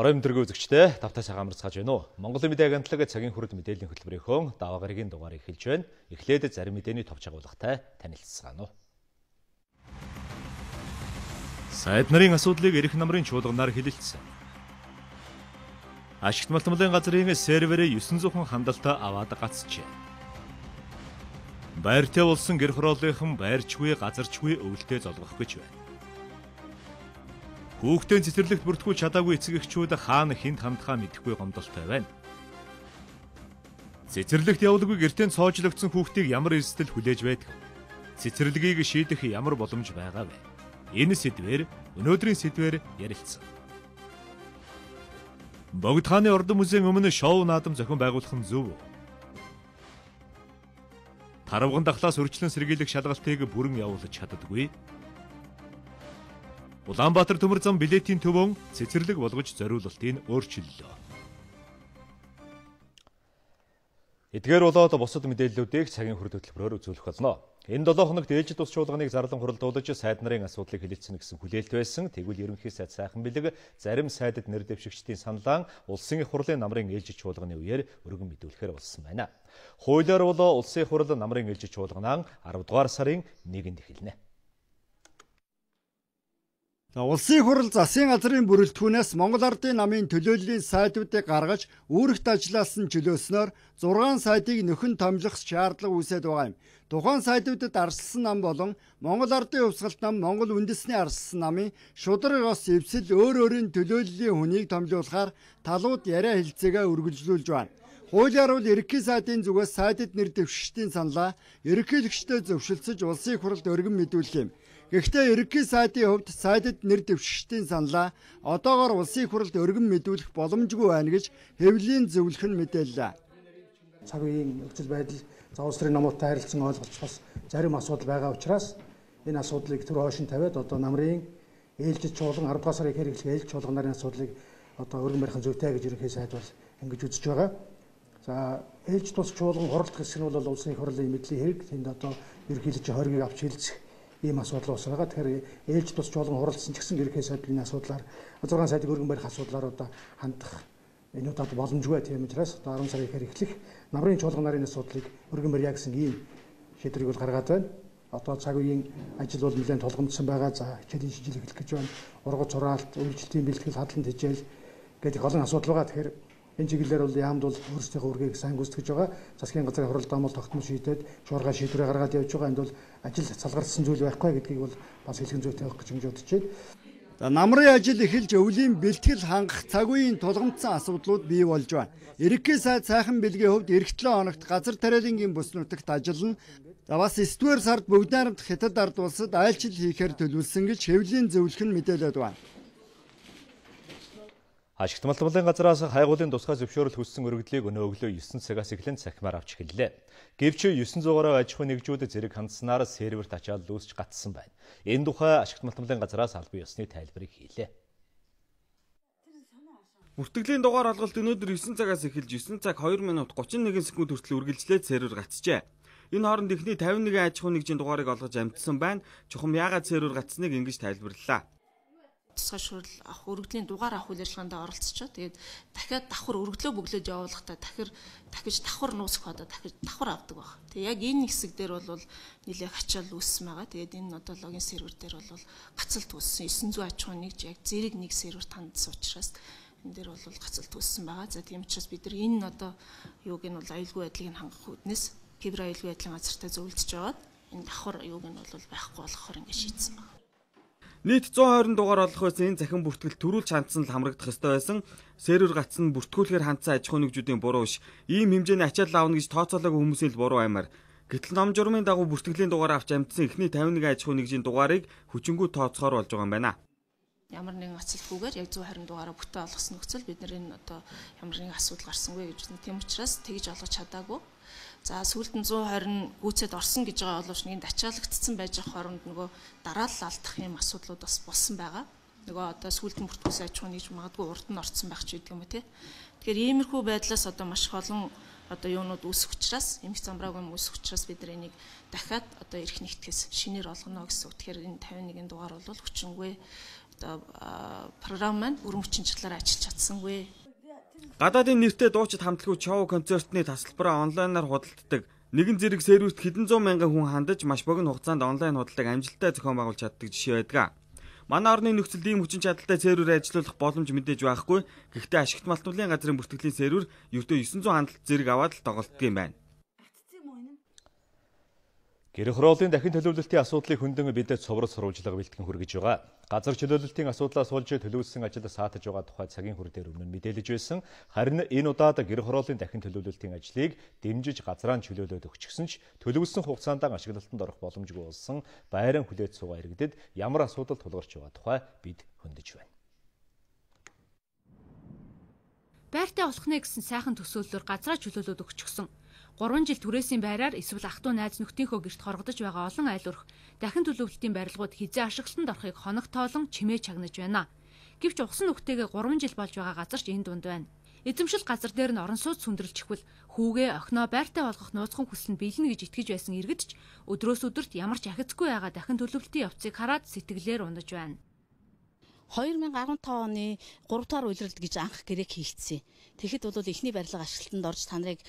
Орой өдрөө үзэгчдээ тавтай цагаан амарцгааж байна уу? Монголын мэдээ агентлаг цагийн хүрэл мэдээллийн хөтөлбөрийнхөө даваа гарагийн дугаар эхэлж байна. Эхлээд зарим мэдээний товч агуулгатай танилцгаана уу. Сайд нарын асуудлыг эрх намрын чуулганаар хилэлцсэн. Ашигт малтмалын газрын серверээ 900 хүн хандлалтаа аваад гацжээ. Байртай болсон гэр хорооллынхан байрчгүй, газарчгүй өвөлтөө золгох гэж байна. Хүүхдийн цэцэрлэгт бүртгүүлж чадаагүй эцэг эхчүүд хаана хинт хандхаа мэдэхгүй гомдолтой байна. Цэцэрлэгт явуулгүй гэртээ цоожлогдсон хүүхдийг ямар эрсдэл хүлээж байдаг? Цэцэрлэгийг шийдэх ямар боломж байгаа вэ? Энэ сэдвээр өнөөдрийн сэдвээр ярилцсан. Богд хааны ордон музейн өмнө шоу наадам зохион байгуулах нь зөв үү? Таравган дахлаас өрчлөн сэргийлэх шалгалтыг бүрэн явуулж чаддаггүй. Улаанбаатар төмөр зам билетийн төвөн цэцэрлэг болгож зориулалтыг өөрчиллөө. Эдгээр болоод бусад мэдээллүүдийг цагийн хүрэл хөтөлбөрөөр үзүүлэх болно. Энэ 7 хоногт ээлжид ус чуулганы зарлан хуралдуулж сайд нарын асуудлыг хэлэлцэнэ гэсэн хүлээлт байсан. Тэгвэл ерөнхий сайд сайхан бэлэг зарим сайдад нэр дэвшигчдийн саналаа улсын их хурлын намрын ээлжид чуулганы үеэр өргөн мэдүүлэхээр болсон байна. Хуулиар бол улсын их хурл намрын ээлжид чуулганаа 10 дугаар сарын 1-нд эхэлнэ. Улсын хурл засгийн газрын бүрэлдэхүүнээс Монгол Ардын намын төлөөллийн сайдуудыг гаргаж үүрэгт ажиллаас нь чөлөөснөөр 6 сайдыг нөхөн томилох шаардлага үүсээд байгаа юм. Тухайн сайдуудад арчилсан нам болон Монгол Ардын хувьсгалт нам, Монгол үндэсний арчилсан намын шудраг ос эвсэл өөрийн төлөөллийн хүнийг томилуулахаар талууд яриа хэлцээгээ үргэлжлүүлж байна. Хуулиар бол ерөнхий сайдын зүгээс сайдад нэр дэвшигчдийн саналаа ерөнхийлөгчдөө зөвшөлдсөж улсын хурлд өргөн мэдүүлэх юм. Гэхдээ ерөнхий сайдын хувьд сайдад нэр дэвшигчдийн саналаа одоогоор улсын хурлд өргөн мэдүүлэх боломжгүй байна гэж хэвлэлийн зөвлөх нь мэдээллээ. Цаг үеийн нөхцөл байдал улс төрийн намуудтай харилцан ойлголцохоос зарим асуудал байгаа учраас энэ асуудлыг түр хойшин тавиад одоо намрын ээлжид чуулган 10 дугаар сарын хэрэглэх ээлж чуулган нарын асуудлыг одоо өргөн барих нь зүйтэй гэж ерөнхий сайд бол ингэж үзэж байгаа. За ээлж тус чуулган хуралдах хэсэг нь бол улсын их хурлын мэдлийн хэрэг. Тэнд одоо ерөнхийлөгч хоргийг авч хэлцэх ийм асуудал ус байгаа. Тэгэхээр ээлж тус чуулган хуралдсан ч гэсэн ерөнхий сайдын асуудлаар 6 сайдыг өргөн барих асуудлаар одоо хандах энэ удаад боломжгүй тийм учраас одоо 10 сарын ихэр эхлэх намрын чуулган нарын асуудлыг өргөн барья гэсэн ийм шийдвэрийг бол гаргаад байна. Одоо цаг үеийн ажил бол нэлээд тулгамдсан байгаа. За хичээлийн шижил эхлэх гэж байна. Ургац хураалт, үйлчлэлийн бэлтгэл, хадлан тэжээл гэдэг олон асуудал байгаа. Тэгэхээр энэ чиглэлээр бол яамд бол өөрсдийнхөө үргийг сайн гүйцэтгэж байгаа. Засгийн газрын хурал дамал тогтмол шийдээд шуурга шийдвэрээ гаргаад явж байгаа. Энд бол ажил салгарсан зүйл байхгүй гэдгийг бол бас хэлхэн зүйтэй авах гэж бодож байна. Намрын ажил эхэлж өвлийн бэлтгэл хангах цаг үеийн тулгамдсан асуудлууд бий болж байна. Ерөнхий сайд сайхан бэлгийн хувьд эх 7 хоногт газар тариалангийн бүс нутагт ажиллана. Бас 9-р сард бүгд найрамд Хятад ард улсад айлчил хийхээр төлөвлөсөн гэж хэвлэлийн зөвлөх нь мэдээлээд байна. Ашигт малтмалын газраас хайгуулын тусгай зөвшөөрөл хүссэн өргөдлийг өнөө өглөө 9 цагаас эхлэн цахимаар авч эхэллээ. Гэвч 900-аар аж ахуйн нэгжүүд зэрэг хандсанаар серверт ачаал үүсч гатсан байна. Энэ тухай Ашигт малтмалын газраас албан ёсны тайлбарыг хийлээ. Бүртгэлийн дугаар алгалт өнөөдөр 9 цагаас эхэлж 9 цаг 2 минут 31 секунд хүртэл үргэлжлээд сервер гатжээ. Энэ хооронд эхний 51 аж ахуйн нэгжийн дугаарыг олгож амжсан байна. Чухам яагаад сервер гатсныг ингэж тайлбарлалаа. Тусгай шуурал авах өргөдлийн дугаар авах үйл ажиллагаанд оролцчихоо. Тэгээд дахиад давхар өргөдлөө бөглөөд явуулахдаа дахиж давхар нуусах одоо дахиж давхар авдаг баг. Тэгээд яг энэ хэсэг дээр бол нэлээд ачаал үүссэн байгаа. Тэгээд энэ одоо логин сервер дээр бол гацалт үүссэн. 900 аж ахуйн нэгж яг зэрэг нэг серверт хандсан учраас энэ дээр бол гацалт үүссэн байгаа. За тийм учраас бид нар энэ одоо юуг нь бол аюулгүй байдлыг хангах үүднээс кибер аюулгүй байдлын газартай зөвлөдөж байгаад энэ давхар юуг нь бол байхгүй болохоор ингэ шийдсэн байна. Нийт 120 дугаар олох байсан энэ захин бүртгэл төрүүлж хандсан л хамрагдах ёстой байсан. Сервер гацсан бүртгүүлэхээр хандсан аж ахуйн нэгжүүдийн буруу биш. Ийм хэмжээний ачаал аавна гэж тооцоолоогүй хүмүүсийн л буруу аймаар. Гэтэл ном журмын дагуу бүртгэлийн дугаар авч амжсан эхний 51 аж ахуйн нэгжийн дугаарыг хүчингү тооцохоор болж байгаа юм байна. Ямар нэгэн ацалгүйгээр яг 120 дугаараа бүтэн олгосон нөхцөл бид нар энэ одоо ямар нэгэн асуудал гарсангүй гэж үзэн. Тийм учраас тэгж олгож чадаагүй. За сүүлд нь 120 гүйцэд орсон гэж байгаа боловч нэг ачаалагдсан байж байгаа хооронд нөгөө дараалал алдах юм асуудлууд бас болсон байгаа. Нөгөө одоо сүүлд нь бүртгүүлсэн аж ахуйн нэгж магадгүй урд нь орцсон байх ч гэдэг юм уу те. Тэгэхээр иймэрхүү байдлаас одоо маш олон одоо юунууд үүсэх учраас эмх замбрааг юм үүсэх учраас бид нар энийг дахиад одоо эрх нэгтгэс шинээр олгоно гэсэн үг. Тэгэхээр энэ 51 дугаар бол хүчингүй програм маань өрөмчийн чиглэлээр ажиллаж чадсангүй. Гадаадын нэртэй дуучид хамтлагууд шоу концертны тасалбараа онлайнаар худалддаг. Нэгэн зэрэг сервист хэдэн зуун мянган хүн хандаж маш богино хугацаанд онлайн худалдааг амжилттай зохион байгуулж чаддаг жишээ байдаг. Манай орны нөхцөлд ийм хүчин чадалтай сервер ажиллуулах боломж мэдээж байхгүй. Гэхдээ ашигт малтмалын газрын бүртгэлийн сервер ердөө 900 хандлт зэрэг аваад л тоглолтдог юм байна. Гэр хорооллын дахин төлөвлөлтийн асуудлыг хөндлөн бидэд цовруул сурвалжлага бэлтгэн хүргэж байгаа. Газар чөлөөлөлтийн асуудлаас болж төлөвлөсөн ажил саатаж байгаа тухай цагийн хур дээр өмнө нь мэдээлж байсан. Харин энэ удаад гэр хорооллын дахин төлөвлөлтийн ажлыг дэмжиж газраа чөлөөлөд өгчихсөн ч төлөвлөсөн хугацаанд ашиглалтанд орох боломжгүй болсон байран хүлээж суугаа иргэдэд ямар асуудал тулгарч байгаа тухай бид хөндөж байна. Байртай болох нэ гэсэн сайхан төсөөллөөр газраа чөлөөлөд өгчихсөн. 3 жил түрээсийн байраар эсвэл ах トゥ найз нөхдийнхөө гэрт хоргодож байгаа олон айл өрх дахин төлөвлөлтийн барилгууд хизээ ашиглалтанд орохыг хоног тоолон чимээ чагнаж байна. Гэвч ухсан нүхтэйгээ 3 жил болж байгаа газарч энэ дунд байна. Эзэмшил газар дээр нь орон сууц сүндрэлчихвэл хүүгээ охиноо байртай болгох нууцхан хүсэл нь биелнэ гэж итгэж байсан иргэд ч өдрөөс өдөрт ямар ч ахицгүй байгаа дахин төлөвлөлтийн явцыг хараад сэтгэлээр унаж байна. 2015 оны 3 дугаар үйлрэлт гэж анх гэрээг хийгдсэн. Тэгэхэд бол эхний барилга ашиглалтанд орж та нарыг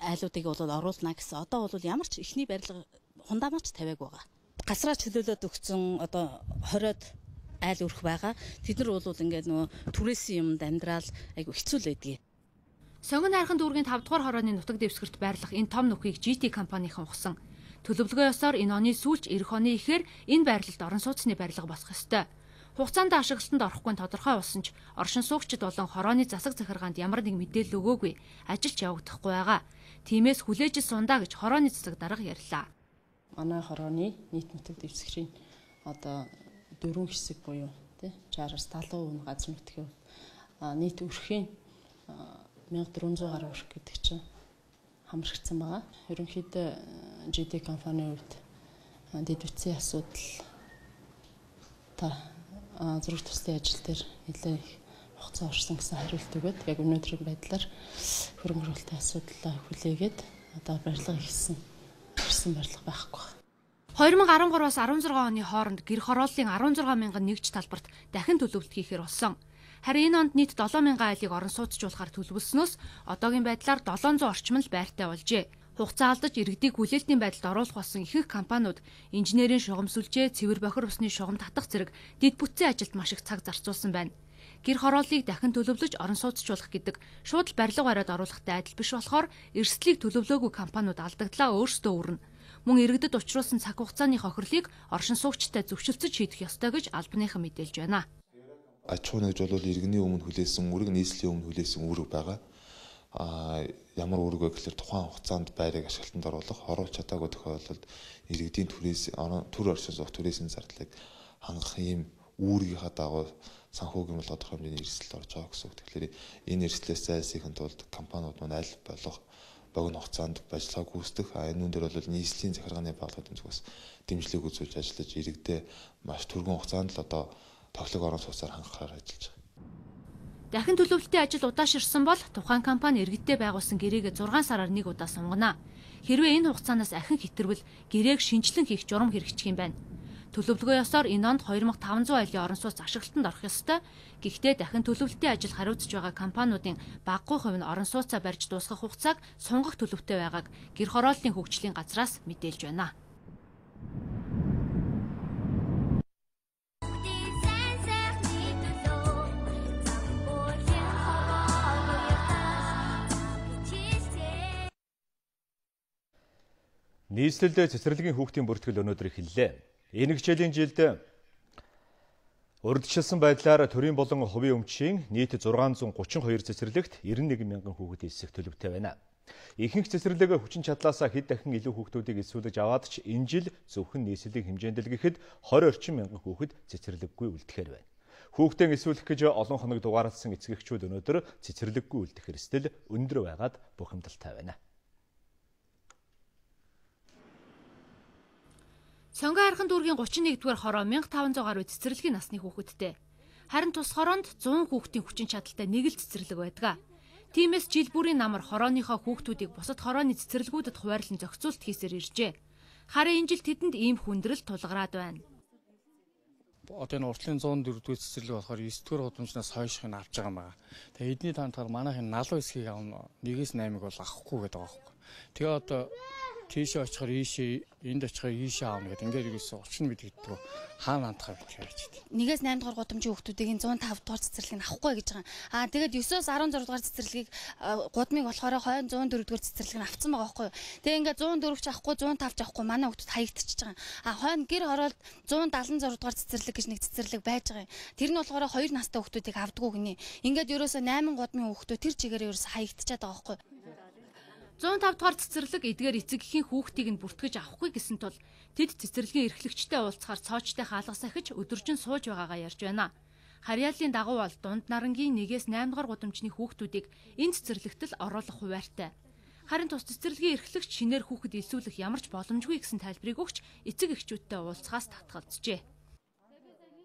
айлуудыг бол оруулна гэсэн. Одоо бол ямар ч эхний барилга хундамаач тавиаг байгаа. Гасраа чөлөөлөд өгсөн одоо 20-од айл өрх байгаа. Тэд нар бол ингээд нөгөө түрээсийн юмд амьдрал айгу хэцүү л байдгийг. Сонгон хайрхан дүүргийн 5 дугаар хорооны нутаг дэвсгэрт байрлах энэ том нүхийг GT компанийн ухсан. Төлөвлөгөө ёсоор энэ оны сүүлч эх оны ихээр энэ байрлалд орон сууцны барилга босох ёстой. Хугацаанд ашиглалтанд орохгүй тодорхой болсон ч оршин суугчид болон хорооны засаг захиргаанд ямар нэг мэдээлэл өгөөгүй, ажилч явагдахгүй байгаа. Тиймээс хүлээж сундаа гэж хорооны засаг дарга ярьлаа. Манай хорооны нийт нутаг дэвсгэрийн одоо 4 хэсэг буюу тий 60-70% газар нутгийн нийт өрхийн 1400 гаруй өрх гэдэг чинь хамрагдсан байгаа. Ерөнхийдөө GT компанийн хувьд дэд бүтцийн асуудал зураг туслын ажил дээр нэлээд их хугацаа орсон гэсэн хариулт өгöd яг өнөөдрийн байдлаар хөрөнгө оруулалтын асуудлаа хүлээгээд одоо барилга хийсэн барилга байхгүй. 2013-аас 16 оны хооронд гэр хорооллын 16,000 нэгж талбарт дахин төлөвлөлт хийхээр болсон. Харин энэ онд нийт 7,000 айлыг орон сууцжуулахаар төлөвлөснөөс одоогийн байдлаар 700 орчим л байртай болжээ. Хугацаа алдаж иргэдийг хүлээлтийн байдалд оруулах болсон ихэнх компаниуд инженерийн шугам сүлжээ, цэвэр бохир усны шугам татах зэрэг дэд бүтцийн ажилд маш их цаг зарцуулсан байна. Гэр хорооллыг дахин төлөвлөж орон сууцжуулах гэдэг шууд л барилга бариад оруулахтай адил биш болохоор эрсдлийг төлөвлөөгүй компаниуд алдагдлаа өөрсдөө өрнө. Мөн иргэдэд учруулсан цаг хугацааны хохирлыг оршин суугчтай зөвшөлтсөж шийдэх ёстой гэж албаныхан мэдээлж байна. Аж ахуй нэгж бол иргэний өмнө хүлээсэн үүрэг, нийслэлийн өмнө хүлээсэн үүрэг байгаа. Ямар үүрэг вэ гэхээр тухайн хугацаанд байрыг ашиглалтанд оруулах чадаагүй тохиолдолд иргэдийн төр оршин суух түрээсийн зардлыг хангах ийм үүргийнхаа дагуу санхүүгийн бол тодорхой хэмжээний эрсдэл орж байгаа гэсэн үг. Тэгэхээр энэ эрсдлээс зайлсхийхин тулд компаниуд маань аль болох богино хугацаанд ажиллагааг гүйцэтгэх. Энэ үн дээр бол нийслэлийн захиргааны байгууллагын зүгээс дэмжлэг үзүүлж ажиллаж иргэдээ маш түргэн хугацаанд л одоо тоглог орон сууцаар хангахаар ажиллаж байгаа. Дахин төлөвлөлтийн ажил удаашрсан бол тухайн компани иргэдтэй байгуулсан гэрээгээ 6 сараар нэг удаа сунгана. Хэрвээ энэ хугацаанаас ахин хэтэрвэл гэрээг шинжилэн хийх журам хэрэгжих юм байна. Төлөвлөгөө ёсоор энэ онд 2500 айлын орон сууц ашиглалтанд орох ёстой. Гэхдээ дахин төлөвлөлтийн ажил хариуцж байгаа компаниудын багагүй хувь нь орон сууцаа барьж дуусгах хугацааг сунгах төлөвтэй байгааг гэр хорооллын хөгжлийн газраас мэдээлж байна. Нийслэлд цэцэрлэгийн хүүхдийн бүртгэл өнөөдөр эхэллээ. Энэ хичээлийн жилд урьдчилсан байдлаар төрийн болон хувийн өмчийн нийт 632 цэцэрлэгт 91,000 хүүхэд эсэх төлөвтэй байна. Ихэнх цэцэрлэг хүчин чадлаасаа хэд дахин илүү хүүхдүүдийг эсвүүлж аваад ч энэ жил зөвхөн нийслэлийн хэмжээнд л гэхэд 20 орчим мянган хүүхэд цэцэрлэггүй үлдэхээр байна. Хүүхдэн эсвүүлэх гэж олон хоног дугаарласан эцэгчүүд өнөөдөр цэцэрлэггүй үлдэх эрсдэл өндөр байгаад бухимдалтай байна. Сонгон хайрхан дүүргийн 31-р хороо 1500 гаруй цэцэрлэгийн насны хүүхэдтэй. Харин тус хороонд 100 хүүхдийн хүчин чадалтай нэг л цэцэрлэг байдаг. Тиймээс жил бүрийн намар хорооныхоо хүүхдүүдийг бусад хорооны цэцэрлэгүүдэд хуваарлан зохицуулт хийсээр иржээ. Харин энэ жил тэдэнд ийм хүндрэл тулгараад байна. одоо энэ уртлын 104-р цэцэрлэг болохоор 9-р гудамжнаас хойших нь авч байгаа юм байна. Тэгээ эдний таамтаар манайхын налуу хэсгийг авна 1-8-ыг бол авахгүй гэдэг байгаа байхгүй. Тэгээ одоо тийшээ очихоор ийшээ энд очихоор ийшээ аавна гэдэг ингээд ерөөсөө 30 мэдэгддэг хаана хандхаа гэж ярьж байна. 1-8 дугаар гудамжийн хүүхдүүдийг 105 дугаар цэцэрлэгийг авахгүй гэж байгаа. Тэгээд 9-оос 16 дугаар цэцэрлэгийг гудамыг болохоор хойно 104 дугаар цэцэрлэгийг авцсан байгаа байхгүй юу. Тэгээ ингээд 104 ч авахгүй 105 ч авахгүй манай хүүхдүүд хаягдчихж байгаа. Хойно гэр ороод 176 дугаар цэцэрлэг гэж нэг цэцэрлэг байж байгаа юм. Тэр нь болохоор 2 настай хүүхдүүдийг авдаггүй гинэ. Ингээд ерөөсөө 8 гудамын хүүхдүүд тэр чигээр ерөөсөө хаягдчихад байгаа байхгүй юу. 105 дугаар цэцэрлэг эдгээр эцэг эхийн хүүхдийг нь бүртгэж авахгүй гэсэн тул тэд цэцэрлэгийн эрхлэгчтэй уулзахаар цоочтой хаалга сахиж өдөржин сууж байгаагаа ярьж байна. Харьяаллын дагуу бол дунд нарангийн 1-8 дугаар гудамжны хүүхдүүдийг энэ цэцэрлэгт л оруулах хуваартай. Харин тус цэцэрлэгийн эрхлэгч шинээр хүүхэд илсүүлэх ямар ч боломжгүй гэсэн тайлбарыг өгч эцэг эхчүүдтэй уулзахаас татгалзжээ.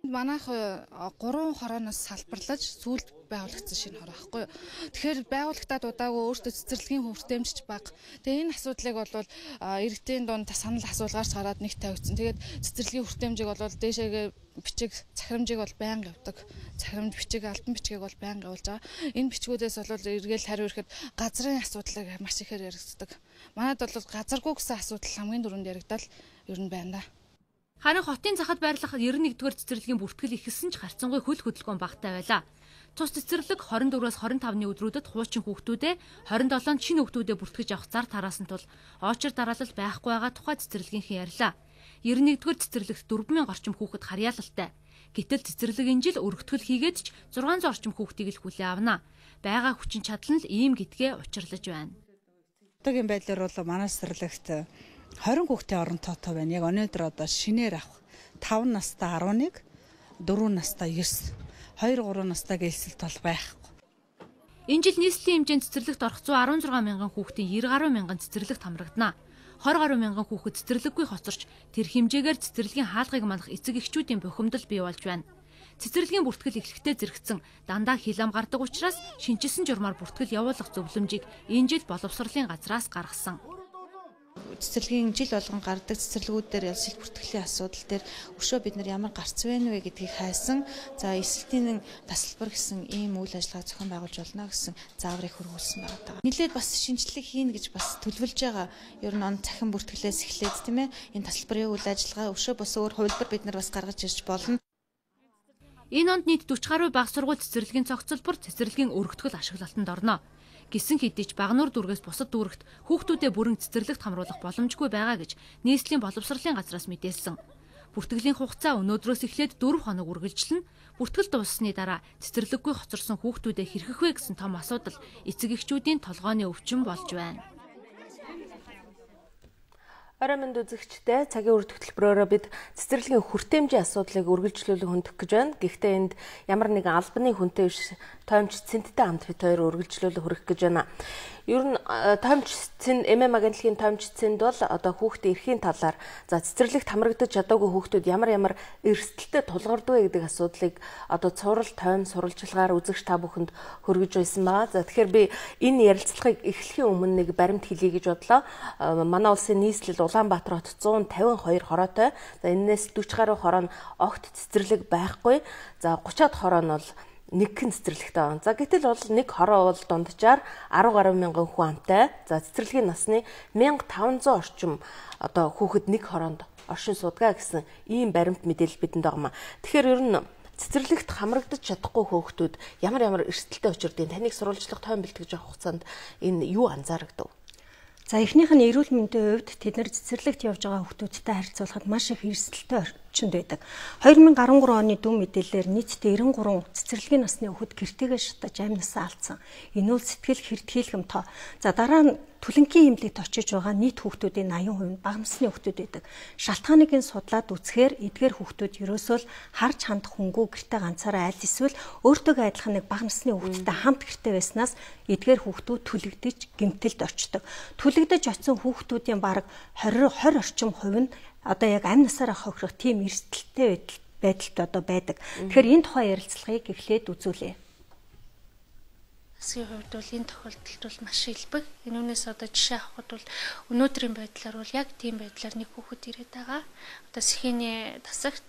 Манайх 3 хорооноос салбарлаж сүүлд байгуулагдсан шинэ хороо байхгүй юу. Тэгэхээр байгуулагтаад удаагүй өөртөө цэцэрлэгийн хүртээмжч баг. Тэгээ энэ асуудлыг бол иргэдийн дунд санал асуулгаарч гараад нэг тавьчихсан. Тэгээд цэцэрлэгийн хүртээмжийг бол дээшээгээ бичиг захирамжийг бол байнга явдаг. Захирамж бичиг албан бичгийг бол байнга явуулж байгаа. Энэ бичгүүдээс бол эргээл хариу ирэхэд газрын асуудлыг маш ихээр яригддаг. Манайд бол газаргүй гэсэн асуудал хамгийн дөрөнд яригдал ер нь байна да. Харин хотын захад байрлах 91-р цэцэрлэгийн бүртгэл ихэлсэн ч харьцангуй хөл хөдөлгөөн багтай байлаа. Цус цэцэрлэг 24-аас 25-ны өдрүүдэд хуучин хүүхдүүдээ 27-нд шинэ хүүхдүүдээ бүртгэж авах зар тараасан тул очир дараалал байхгүй байгаа тухай цэцэрлэгийнхэн ярьлаа. 91-р цэцэрлэгт 4000 орчим хүүхэд харьяалалтай. Гэтэл цэцэрлэг энэ жил өргөтгөл хийгээд ч 600 орчим хүүхдийг л хүлээн авна. Бага хүчин чадал нь ийм гэдгээ учирлаж байна. Одоогийн байдлаар бол манай цэцэрлэгт 20 хүүхдийн орон тоотой байна. Яг өнөөдөр одоо шинээр авах 5 настай 11, 4 настай 9, 2-3 настай гэлсэлт бол байхгүй. Энэ жил нийслэлийн хэмжээнд цэцэрлэгт орох 116 мянган хүүхдийн 90 гаруй мянган цэцэрлэгт хамрагдана. 20 гаруй мянган хүүхэд цэцэрлэггүй хоцорч тэр хэмжээгээр цэцэрлэгийн хаалгыг манах эцэг эхчүүдийн бухимдал бий болж байна. Цэцэрлэгийн бүртгэл эхлэхдээ зэрэгцэн дандаа хил ам гардаг учраас шинжилсэн журмаар бүртгэл явуулах зөвлөмжийг энэ жил боловсролын газраас гаргасан. Цэцэрлэгийн жил болгон гардаг цэцэрлэгүүд дээр ялсэл бүртгэлийн асуудал дээр өшөө бид нар ямар гарц байна вэ гэдгийг хайсан. За эсэлтийн тасалбар гэсэн ийм үйл ажиллагаа зохион байгуулж болно гэсэн зааврыг хөрвүүлсэн байгаа. Нилээд бас шинжилгээ хийнэ гэж бас төлөвлөж байгаа. Ер нь он цахим бүртгэлээс эхлээд тийм ээ энэ тасалбарын үйл ажиллагаа өшөө бос өөр хувилбар бид нар бас гаргаж ирж болно. Энэ онд нийт 40 гаруй бага сургууль цэцэрлэгийн цогцлбор цэцэрлэгийн өргөтгөл ашиглалтанд орно. Гисэн хэдий ч Багнуур дүүргээс бусад дүүрэгт хүүхдүүдэд бүрэн цэцэрлэгт хамруулах боломжгүй байгаа гэж нийслэлийн боловсролын газраас мэдээлсэн. Бүртгэлийн хугацаа өнөөдрөөс эхлээд 4 хоног үргэлжилнэ. Бүртгэл дууссаны дараа цэцэрлэггүй хоцорсон хүүхдүүдэд хэрхэх вэ гэсэн том асуудал эцэг эхчүүдийн толгойн өвчин болж байна. Орой минь үзэгчтэй цагийн үр хөтөлбөрөөрөө бид цэцэрлэгийн хүртээмжийн асуудлыг үргэлжлүүлэн хөндөх гэж байна. Гэхдээ энд ямар нэгэн албаны хүнтэй биш тоомч цэнттэй хамт бид хоёр үргэлжлүүлэн хүрэх гэж байна. Ер нь тоомч цэн ММ агентлагийн тоомч цэнд бол одоо хүүхдийн эрхийн талаар за цэцэрлэгт хамрагдаж чадаагүй хүүхдүүд ямар эрсдэлтэй тулгарддаг гэдэг асуудлыг одоо цуврал тоом сурвалжлагаар үзэгч та бүхэнд хөргөж байсан байгаа. За тэгэхээр би энэ ярилцлагыг эхлэхийн өмнө нэг баримт хэлье гэж бодлоо. Манай улсын нийслэл Улаанбаатар хот 152 хороотой. За энээс 40 гаруй хороо нь огт цэцэрлэг байхгүй. За 30-аад хороо нь бол нэгэн цэцэрлэгтэй байна. За гэтэл бол нэг хороо бол дунджаар 10 гаруй мянган хүн амтай. За цэцэрлэгийн насны 1500 орчим одоо хүүхэд нэг хороонд оршин суудгаа гэсэн ийм баримт мэдээлэл бидэнд байгаа юм. Тэгэхээр ер нь цэцэрлэгт хамрагдаж чадахгүй хүүхдүүд ямар эрсдэлтэй учирдیں۔ Таныг сурвалжлах тоон бэлтгэж авах хугацаанд энэ юу анзаарагдав? За эхнийх нь эрүүл мэндийн хувьд тэд нар цэцэрлэгт явж байгаа хүүхдүүдтэй харьцуулахад маш их эрсдэлтэй орчинд байдаг. 2013 оны дүн мэдээлэлээр нийтдээ 93 цэцэрлэгийн насны хүүхэд гэртээгээ шатаж амнасаа алдсан. Энэ бол сэтгэл хэртхийлгэм тоо. За дараа нь түлэнгийн эмнэлэгт очиж байгаа нийт хүүхдүүдийн 80% нь бага насны хүүхдүүд байдаг. Шалтгааныг нь судлаад үзэхээр эдгээр хүүхдүүд ерөөсөө л харж хандах хөнгүү гэртээ ганцаараа аль эсвэл өөртөө адилхан нэг бага насны хүүхдтэй хамт гэртээ байснаас эдгээр хүүхдүүд түлэгдэж гэмтэлд орчдог. Түлэгдэж очисон хүүхдүүдийн бараг 20 орчим хувь нь одоо яг амь насаараа хохирох тийм эрсдэлтэй байдалд одоо байдаг. Тэгэхээр энэ тухай ярилцлагыг эхлээд үзүүлье. Засгийн хувьд бол энэ тохиолдолд бол маш илбэг. Энүүнээс одоо жишээ авахад бол өнөөдрийн байдлаар бол яг тийм байдлаар нэг хүүхэд ирээд байгаа. Одоо сэхээний тасагт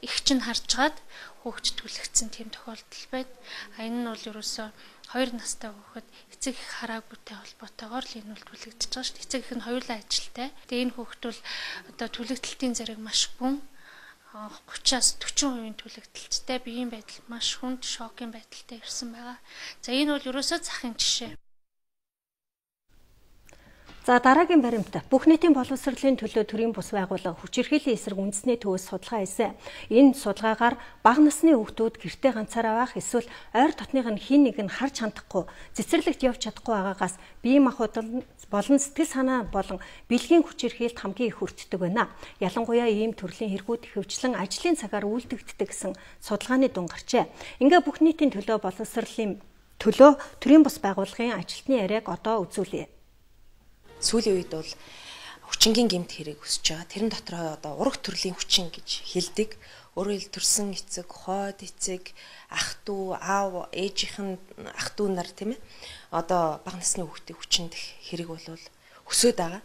их чинь харжгаад хүүхд түлхсэн тийм тохиолдол байна. Энэ нь бол ерөөсөө 2 настай хүүхэд эцэг их хараагүйтэй холбоотойгоор л энэ бол түлэгдэж байгаа шүү дээ. Эцэг их нь хоёулаа ажилтай. Тэгээ энэ хүүхэд бол одоо түлэгдэлтийн зэрэг маш гүн 30-аас 40% түлэгдэлттэй биеийн байдал маш хүнд шокийн байдалтай ирсэн байгаа. За энэ бол ерөөсөө захын жишээ. За дараагийн баримт бүх нийтийн боловсролын төлөө төрийн бус байгууллага хүчирхийллийн эсрэг үндэсний төвөөс судалгаа хийсэн. Энэ судалгаагаар бага насны хүүхдүүд гэртээ ганцаараа байх эсвэл ойр дотных нь хин нэг нь харж хандахгүй, цэцэрлэгт явж чадахгүй байгаагаас биеийн махбодол болон сэтгэл санаа болон бэлгийн хүчирхийлэлд хамгийн их өртдөг байна. Ялангуяа ийм төрлийн хэрэгүүд хөвчлэн ажлын цагаар үйлдэгддэг гэсэн судалгааны дүн гарчээ. Ингээ бүх нийтийн төлөө боловсролын төлөө төрийн бус байгууллагын ажилтны яриаг одоо үзүүлье. Сүүлийн үед бол хүчингийн гэмт хэрэг өсөж байгаа. Тэрэн дотроо одоо ураг төрлийн хүчин гэж хэлдэг. Өөрөөр хэл төрсэн эцэг, хойд эцэг, ах дүү, аав, ээжийнх нь ах дүү нар тийм ээ. Одоо бага насны хүүхдийн хүчиндх хэрэг бол өсөд байгаа.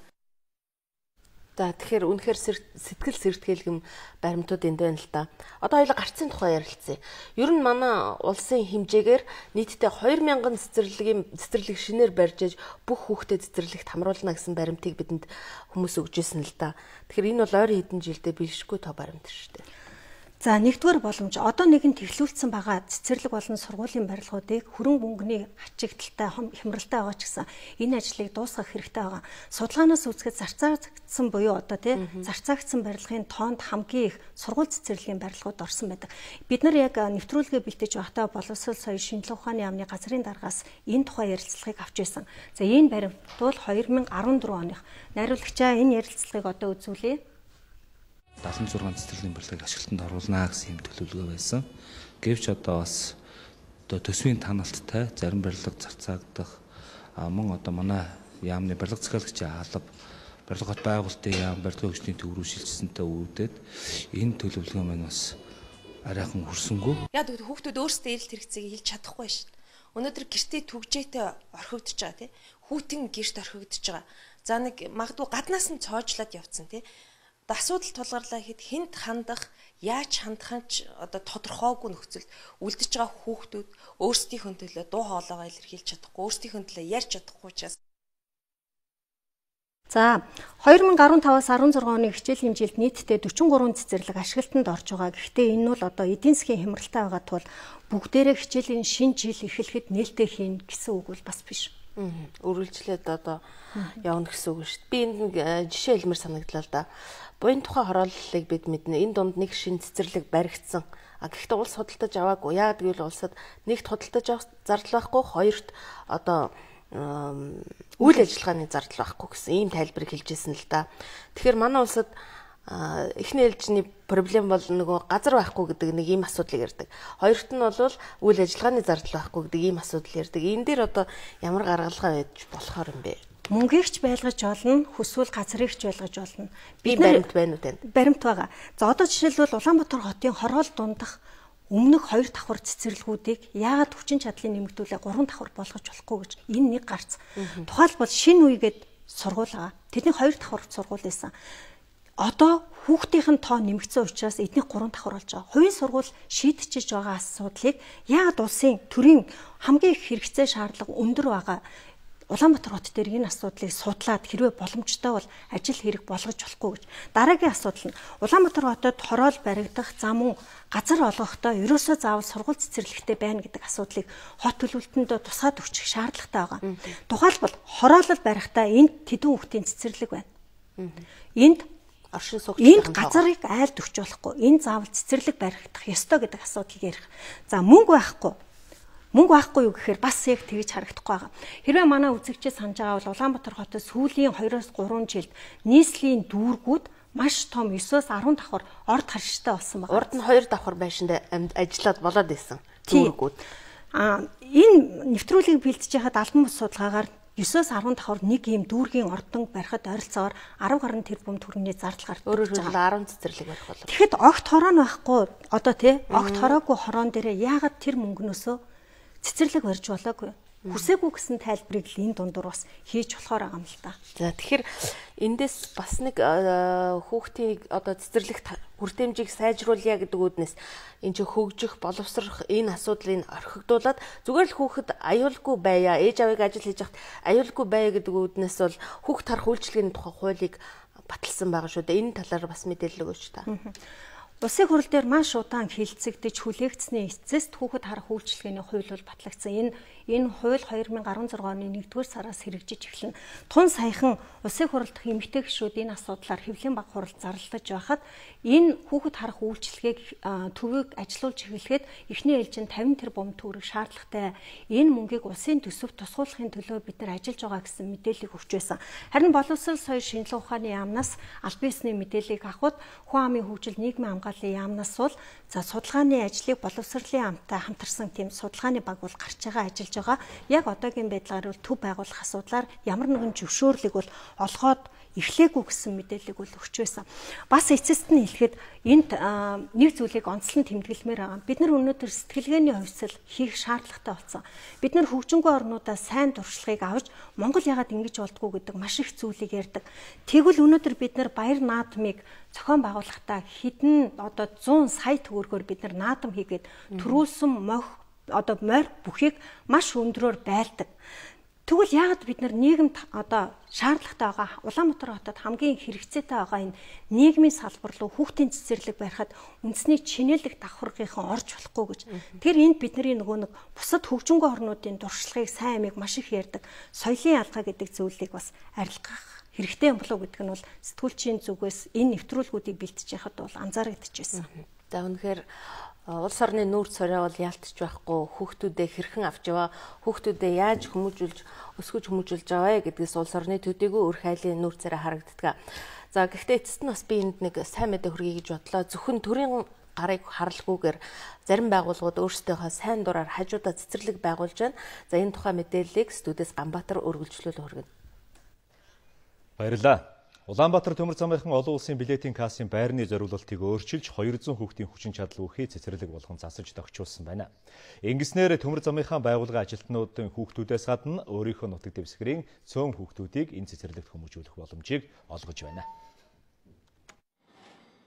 За тэгэхээр үнэхээр сэтгэл сэртгэлгэм баримтууд энд байна л да. Одоо хоёул гарцын тухай ярилцъя. Ер нь манай улсын хэмжээгээр нийтдээ 2000 цэцэрлэг шинээр барьж бүх хүүхдэд цэцэрлэгт хамруулна гэсэн баримтыг бидэнд хүмүүс өгчээсэн л да. Тэгэхээр энэ бол ойрын хэдэн жилдээ бэлшгүй тоо баримт шүү дээ. За нэгдүгээр боломж одоо нэгэн тэглүүлсэн байгаа цэцэрлэг болон сургуулийн барилгуудыг хөрөнгө мөнгөний ачигдaltaй хямралтай байгаа ч гэсэн энэ ажлыг дуусгах хэрэгтэй байгаа. Судалгаанаас үзэхэд зарцаагдсан буюу одоо зарцаагдсан барилгын тоонд хамгийн их сургууль цэцэрлэгийн барилгууд орсон байдаг. Бид нар яг нэвтрүүлгээ бэлтэж байхдаа боловсрол соёлын шинжилгээ ухааны яамны газрын даргаас энэ тухай ярилцлагыг авч байсан. За энэ баримт бол 2014 оных. Найруулагчаа энэ ярилцлагыг одоо үзүүлье. 76 цэцэрлэгийн барилгыг ашиглалтанд оруулнаа гэсэн юм төлөвлөгөө байсан. Гэвч одоо бас төсвийн таналттай зарим барилга зарцаагдах мөн одоо манай яамны барилга захиалагчийн алба барилга хот байгуулалтын яам барилгын хүчний төв рүү шилжсэнтэй үүдээд энэ төлөвлөгөө маань бас арайхан хүрсэнгүй. Яг хүүхдүүд өөрсдөө эрэлт хэрэгцээг хэлж чадахгүй шин. Өнөөдөр гэртээ түгжээтэй орхигдож байгаа тий. Хүүтэн гэрт орхигдож байгаа. За нэг магадгүй гаднаас нь цоожлоод явцсан тий. Асуудал тулгарлаа хэд хэнд хандах, яаж хандах нь одоо тодорхойгүй нөхцөлд үлдэж байгаа хүүхдүүд өөрсдийнхөө төлөө дуу хоолойгоо илэрхийлж чадахгүй, өөрсдийнхөө төлөө ярьж чадахгүй учраас. За 2015-аас 16 оны хичээл хэмжээлд нийтдээ 43 цэцэрлэг ашиглалтанд орж байгаа. Гэхдээ энэ бол одоо эдийн засгийн хямралтай байгаа тул бүгдээрээ хичээлийн шинэ жил эхлэхэд нээлттэй хийн гэсэн үг бол бас биш. Үргэлжлээд одоо явна гэсэн үг шүү дээ. Би энд жишээ хэлмээр санагдлаа л да. Буян тухай хорооллыг бид мэднэ. Энэ дунд нэг шинэ цэцэрлэг баригдсан. Гэхдээ улс худалдаж аваагүй. Яагаад гэвэл улсад нэгт худалдаж авах зардал байхгүй, хоёрт одоо үйл ажиллагааны зардал байхгүй гэсэн ийм тайлбарыг хэлжсэн л да. Тэгэхээр манай улсад эхний ээлжний проблем бол нөгөө газар байхгүй гэдэг нэг ийм асуудлыг ярьдаг. Хоёрт нь бол үйл ажиллагааны зардал байхгүй гэдэг ийм асуудал ярьдаг. Энэ дээр одоо ямар гаргалгаа байж болохоор юм бэ? Мөнгөөгч байлгаж олно, хүсвэл газрыгч байлгаж олно. Бид баримт байна уу танд? Баримт байгаа. За одоо жишээлбэл Улаанбаатар хотын хороол дундах өмнөх 2 давхар цэцэрлэгүүдийг яагаад хүчин чадлыг нэмэгдүүлээ 3 давхар болгож болохгүй гэж энэ нэг гарц. Тухайлбал шинэ үегээд сургууль байгаа. Тэдний 2 давхар сургууль байсан. Одоо хүүхдийн тоо нэмэгдсэн учраас эдний 3 давхар болж байгаа. Хувийн сургууль шийдчихэж байгаа асуудлыг яагаад улсын төрийн хамгийн их хэрэгцээ шаардлага өндөр байгаа Улаанбаатар хот дээр энэ асуудлыг судлаад хэрвээ боломжтой бол ажил хэрэг болгож болохгүй гэж. Дараагийн асуудал нь Улаанбаатар хотод хороол баригдах зам уу газар олгохдоо ерөөсөө заавал сургууль цэцэрлэгтэй байна гэдэг асуудлыг хот төлөвлөлтөнд тусгаад өгчих шаардлагатай байгаа. Тухайлбал хороолол барихдаа энд тэдэн хүүхдийн цэцэрлэг байна. Энд оршин суугч энд газарыг айлд өгч болохгүй. Энэ заавал цэцэрлэг баригдах ёстой гэдэг асуудлыг ярих. За мөнгө байхгүй. Мөнгө байхгүй юу гэхээр бас яг тэгж харагдахгүй байгаа. Хэрвээ манай үзэгчид санаж байгаа бол Улаанбаатар хотод сүүлийн 2-3 жилд нийслэлийн дүүргүүд маш том 9-10 давхар орд харштай болсон байна. Урд нь 2 давхар байшинд ажиллаад болоод исэн дүүргүүд. Энэ нэвтрүүлгийг бэлтжиж хаад албан бус судалгаагаар 9-10 давхар нэг ийм дүүргийн ордон барихад ойролцоогоор 10 гаруй тэрбум төгрөгийн зардал гардаг. Өөрөөр хэлбэл 10 цэцэрлэг барих болов. Тэгэхэд огт хороо нь байхгүй одоо огт хороогүй хороон дээрээ яагаад тэр мөнгнөөсөө цэцэрлэг барьж болоогүй. Хүсээгүй гэсэн тайлбарыг л энэ дундуур бас хийж болохоор байгаа юм л та. За тэгэхээр эндээс бас нэг хүүхдийн одоо цэцэрлэгт хүртээмжийг сайжруулъя гэдэг үүднээс энэ ч хөгжих, боловсрох энэ асуудлыг орхигдуулаад зүгээр л хүүхэд аюулгүй байя, ээж авыг ажил хийж хахад аюулгүй байя гэдэг үүднээс бол хүүхд харах үйлчилгээний тухай хуулийг баталсан байгаа шүү дээ. Энэ талаар бас мэдээлэл өгөөч та. Улсын хурал дээр маш удаан хилцэгдэж хүлээгдсэний эцэст хүүхэд харах үйлчилгээний хууль бол батлагдсан. Энэ хууль 2016 оны 1-р сараас хэрэгжиж эхэлнэ. Тун саяхан улсын хурал дахь эмэгтэй гишүүд энэ асуудлаар хэвлэлийн баг хурал зарлаж байхад энэ хүүхэд харах үйлчилгээг төвөг ажилуулж эхлэхэд эхний ээлжинд 50 тэрбум төгрөг шаардлагатай. Энэ мөнгийг улсын төсөвт тусгуулахын төлөө бид нар ажиллаж байгаа гэсэн мэдээллийг өгч байсан. Харин боловсрол соёл шинжилгээ ухааны яамнаас аль биесний мэдээллийг авахд хүн амын хөгжил нийгмийн хамгааллын яамнаас бол за судалгааны ажлыг боловсролын амтай хамтарсан тийм судалгааны баг бол гарч байгаа ажиллаж байгаа. Яг одоогийн байдлаар бол төв байгуулах асуудлаар ямар нэгэн зөвшөөрлөг бол олгоод эхлээгүй гэсэн мэдээллийг бол өгч байсан. Бас эцэст нь хэлэхэд энд нэг зүйлийг онцлон тэмдэглэмээр байгаа. Бид нар өнөөдөр сэтгэлгээний хувьсэл хийх шаардлагатай болсон. Бид нар хөгжингүй орнуудаа сайн туршлагыг авч Монгол яагаад ингэж болдгоо гэдэг маш их зүйлийг ярьдаг. Тэгвэл өнөөдөр бид нар баяр наадмыг зохион байгуулахдаа хэдэн одоо 100 сая төгрөгөөр бид нар наадам хийгээд төрүүлсэн морь бүхийг маш өндрөөр байлдаг. Тэгвэл яагаад бид нар нийгэмд одоо шаардлагатай байгаа Улаанбаатар хотод хамгийн хэрэгцээтэй байгаа энэ нийгмийн салбар руу хүүхдийн цэцэрлэг барихад үндэсний чинээлэг давхаргынхан орж болохгүй гэж. Тэр энд бидний нөгөө нэг бусад хөгжингүй орнуудын дуршлагыг сайн амиг маш их ярьдаг. Соёлын алгаа гэдэг зүйлийг бас арилгах хэрэгтэй юм болов гэдэг нь бол сэтгүүлчийн зүгээс энэ нэвтрүүлгүүдийг бэлтэж яхад бол анзаарэгдэжсэн. За үнэхээр улс орны нүүр цорой бол яалтч байхгүй, хүүхдүүдээ хэрхэн авч яваа, хүүхдүүдээ яаж өсгөж хүмүүжүүлж аваа гэдгээс улс орны төдийгүй өр хайлын нүүр царай харагддаг. За гэхдээ эцэст нь бас би энд нэг сайн мэдээ хүргэе гэж бодлоо. Зөвхөн төрийн гарыг харалгүйгээр зарим байгууллагууд өөрсдийнхөө сайн дураар хажуудаа цэцэрлэг байгуулж байна. За энэ тухай мэдээллийг студиэс Ганбаатар үргэлжлүүлэн хүргэнэ. Баярлалаа. Улаанбаатар төмөр замынхан олон улсын билетийн кассын байрны зориулалтыг өөрчилж 200 хүүхдийн хүчин чадал үхий цэцэрлэг болгон засаж тогтчулсан байна. Ингэснээр төмөр замынхан байгууллагын ажилтнуудын хүүхдүүдээс гадна өөрийнхөө нутаг дэвсгэрийн цөөн хүүхдүүдийг энэ цэцэрлэгт хүмүүжүүлэх боломжийг олгож байна.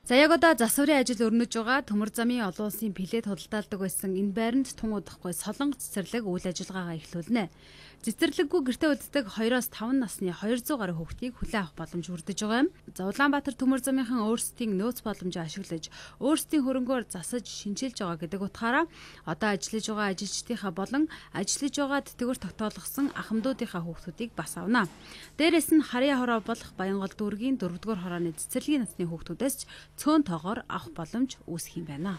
За яг одоо засварын ажил өрнөж байгаа төмөр замын олон улсын билет худалдаалдаг байсан энэ байранд тун удахгүй Солонгос цэцэрлэг үйл ажиллагаагаа эхлүүлнэ. Цэцэрлэггүй гэртээ үлддэг 2-5 насны 200 гаруй хүүхдийг хүлээн авах боломж хүрдэж байгаа юм. За Улаанбаатар төмөр замынхан өөрсдийн нөөц боломжийг ашиглаж өөрсдийн хөрөнгөөр засаж шинжилж байгаа гэдэг утгаараа одоо ажиллаж байгаа ажилчдынхаа болон ажиллаж байгаа тэтгэвэр тогтоолгосон ахмадуудынхаа хүүхдүүдийг бас авна. Дээрээс нь Харьяа хороо болох Баянгол дүүргийн 4-р хорооны цэцэрлэгийн насны хүүхдүүдээс ч цөөн тоогоор авах боломж үүсэх юм байна.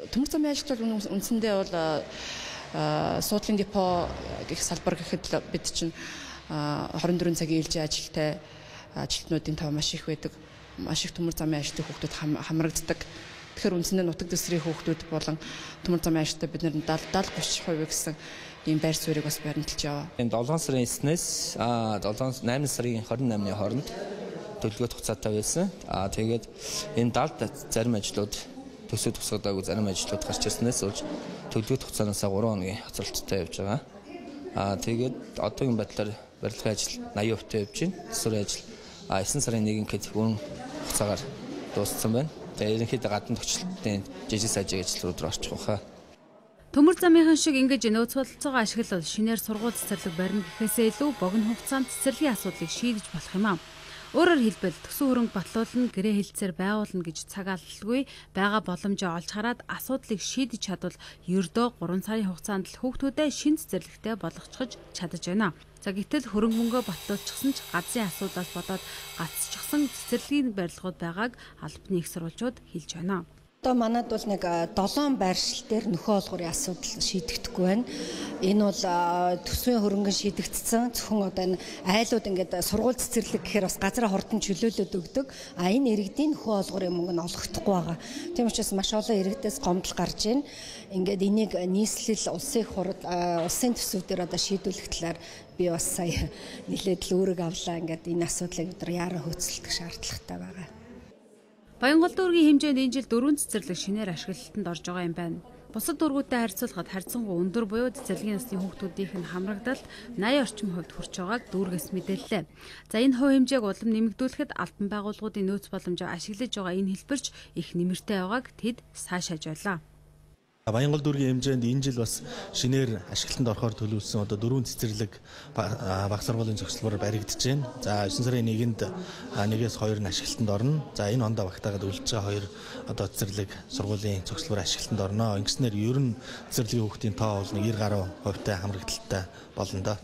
Төмөр замын ажилтнууд үндсэндээ бол суудлын депо гэх салбар гэхэд бид чинь 24 цагийн ээлжийн ажилтай ажилтнуудын тав маш их байдаг. Маш их төмөр замын ажилтны хүүхдүүд хамрагддаг. Тэгэхээр үндсэндээ нутаг дэвсгэрийн хүүхдүүд болон төмөр замын ажилтнууд бид нэр 70-30% гэсэн ийм байр суурийг бас баримталж яваа. Энэ 7 сарын 9-ээс 8 сарын 28-ны хооронд төлөвлөгөө хугацаатай байсан. Тэгээд энэ 70 зарим ажлууд төсөө тусгадаагүй зарим ажлууд гарч ирснээс болж төлөвлөгөө хугацаанаас 3 хоногийн хоцролттой явж байгаа. Тэгээд одоогийн байдлаар барилгын ажил 80% явж байна. Засварын ажил 9 сарын 1-нд өрн хугацаагаар дууссан байна. Тэгээд ерөнхийдөө гадна төвчлөлтийн жижиг сажиг ажил руу орчих واخа. Төмөр замынхан шиг ингэж нөөц бололцоогоо ашиглал шинээр сургууль цэцэрлэг барина гэхээсээ илүү богино хугацаанд цэцэрлэгийн асуудлыг шийдэж болох юм аа. Өөрөөр хэлбэл төсөв хөрөнгө батлуулна, гэрээ хэлцээр байгуулна гэж цаг алдалгүй байгаа боломжоо олж хараад асуудлыг шийдэж чадвал ердөө 3 сарын хугацаанд л хүүхдүүдэд шин цэцэрлэгтэй болгочихж чадаж байна. За гэтэл хөрөнгө мөнгөө батлуулчихсан ч газрын асуудлаас болоод гацчихсан цэцэрлэгийн барилгууд байгааг албаны их сурвалжууд хэлж байна. Одоо манад бол нэг 7 байршил дээр нөхөө олгорын асуудал шийдэгдэхгүй байна. Энэ бол төсвийн хөрөнгө шийдэгдсэн. Зөвхөн одоо энэ айлууд ингээд сургууль цэцэрлэг гэхээр бас газраа хурдан чөлөөлөд өгдөг. Энэ иргэдийн нөхөө олгорын мөнгө нь олгохдохгүй байгаа. Тийм учраас маш олон иргэдээс гомдол гарч байна. Ингээд энийг нийслэл улсын хурал улсын төсвүүдээр одоо шийдвэрлэх талаар би бас сая нэлээд л үүрэг авлаа. Ингээд энэ асуудлыг бид яаран хөцөлдөх шаардлагатай байгаа. Баянгол дүүргийн хэмжээнд энэ жил 4 цэцэрлэг шинээр ашиглалтанд орж байгаа юм байна. Бусад дүүргүүдтэй харьцуулахад харьцангуй өндөр буюу цэцэрлэгийн насны хүүхдүүдийнх нь хамрагдалт 80 орчим хувьд хүрч байгааг дүүргээс мэдээллээ. За энэ хувь хэмжээг улам нэмэгдүүлэхэд албан байгууллагуудын нөөц боломжоо ашиглаж байгаа энэ хэлбэрч их нэмэртэй байгааг тэд сайшааж байлаа. Баянгол дүүргийн хэмжээнд энэ жил бас шинээр ашиглалтанд орохоор төлөвлөсөн одоо 4 цэцэрлэг баг сургуулийн зохицлоор баригдаж байна. За 9 сарын 1-нд 1-2 нь ашиглалтанд орно. За энэ ондоо багтаагаад үлдэж байгаа 2 одоо цэцэрлэг сургуулийн зохицлоор ашиглалтанд орно. Ингэснээр ер нь цэцэрлэгийн хүүхдийн тоо бол 90 гаруй хувьтай хамрагдaltaй болно доо.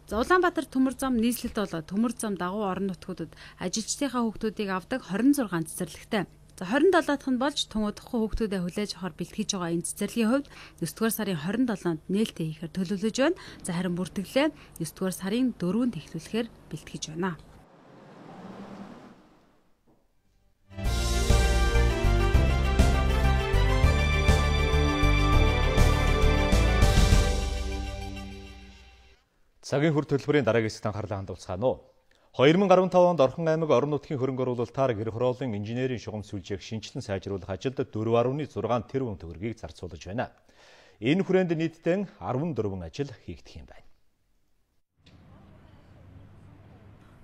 За Улаанбаатар төмөр зам нийслэлд болоод төмөр зам дагуу орон нутгуудад ажилчдынхаа хүүхдүүдийг авдаг 26 цэцэрлэгтэй. За 27 дахь нь болж тун удахгүй хүүхдүүдэд хүлээж авахар бэлтгэж байгаа энэ цэцэрлэгийн хувьд 9-р сарын 27-нд нээлттэй хийхээр төлөвлөж байна. За харин бүртгэлээ 9-р сарын 4-нд эхлүүлэхээр бэлтгэж байна. Цагийн хүр төлбөрийн дараагийн хэсэгт анхаарлаа хандуулцгаана уу. 2015 онд Орхон аймаг орон нутгийн хөрөнгө оруулалтаар гэр хорооллын инженерийн шугам сүлжээг шинжилэн сайжруулах ажилд 4.6 тэрбум төгрөгийг зарцуулж байна. Энэ хүрээнд нийтдээ 14 ажил хийгдэх юм байна.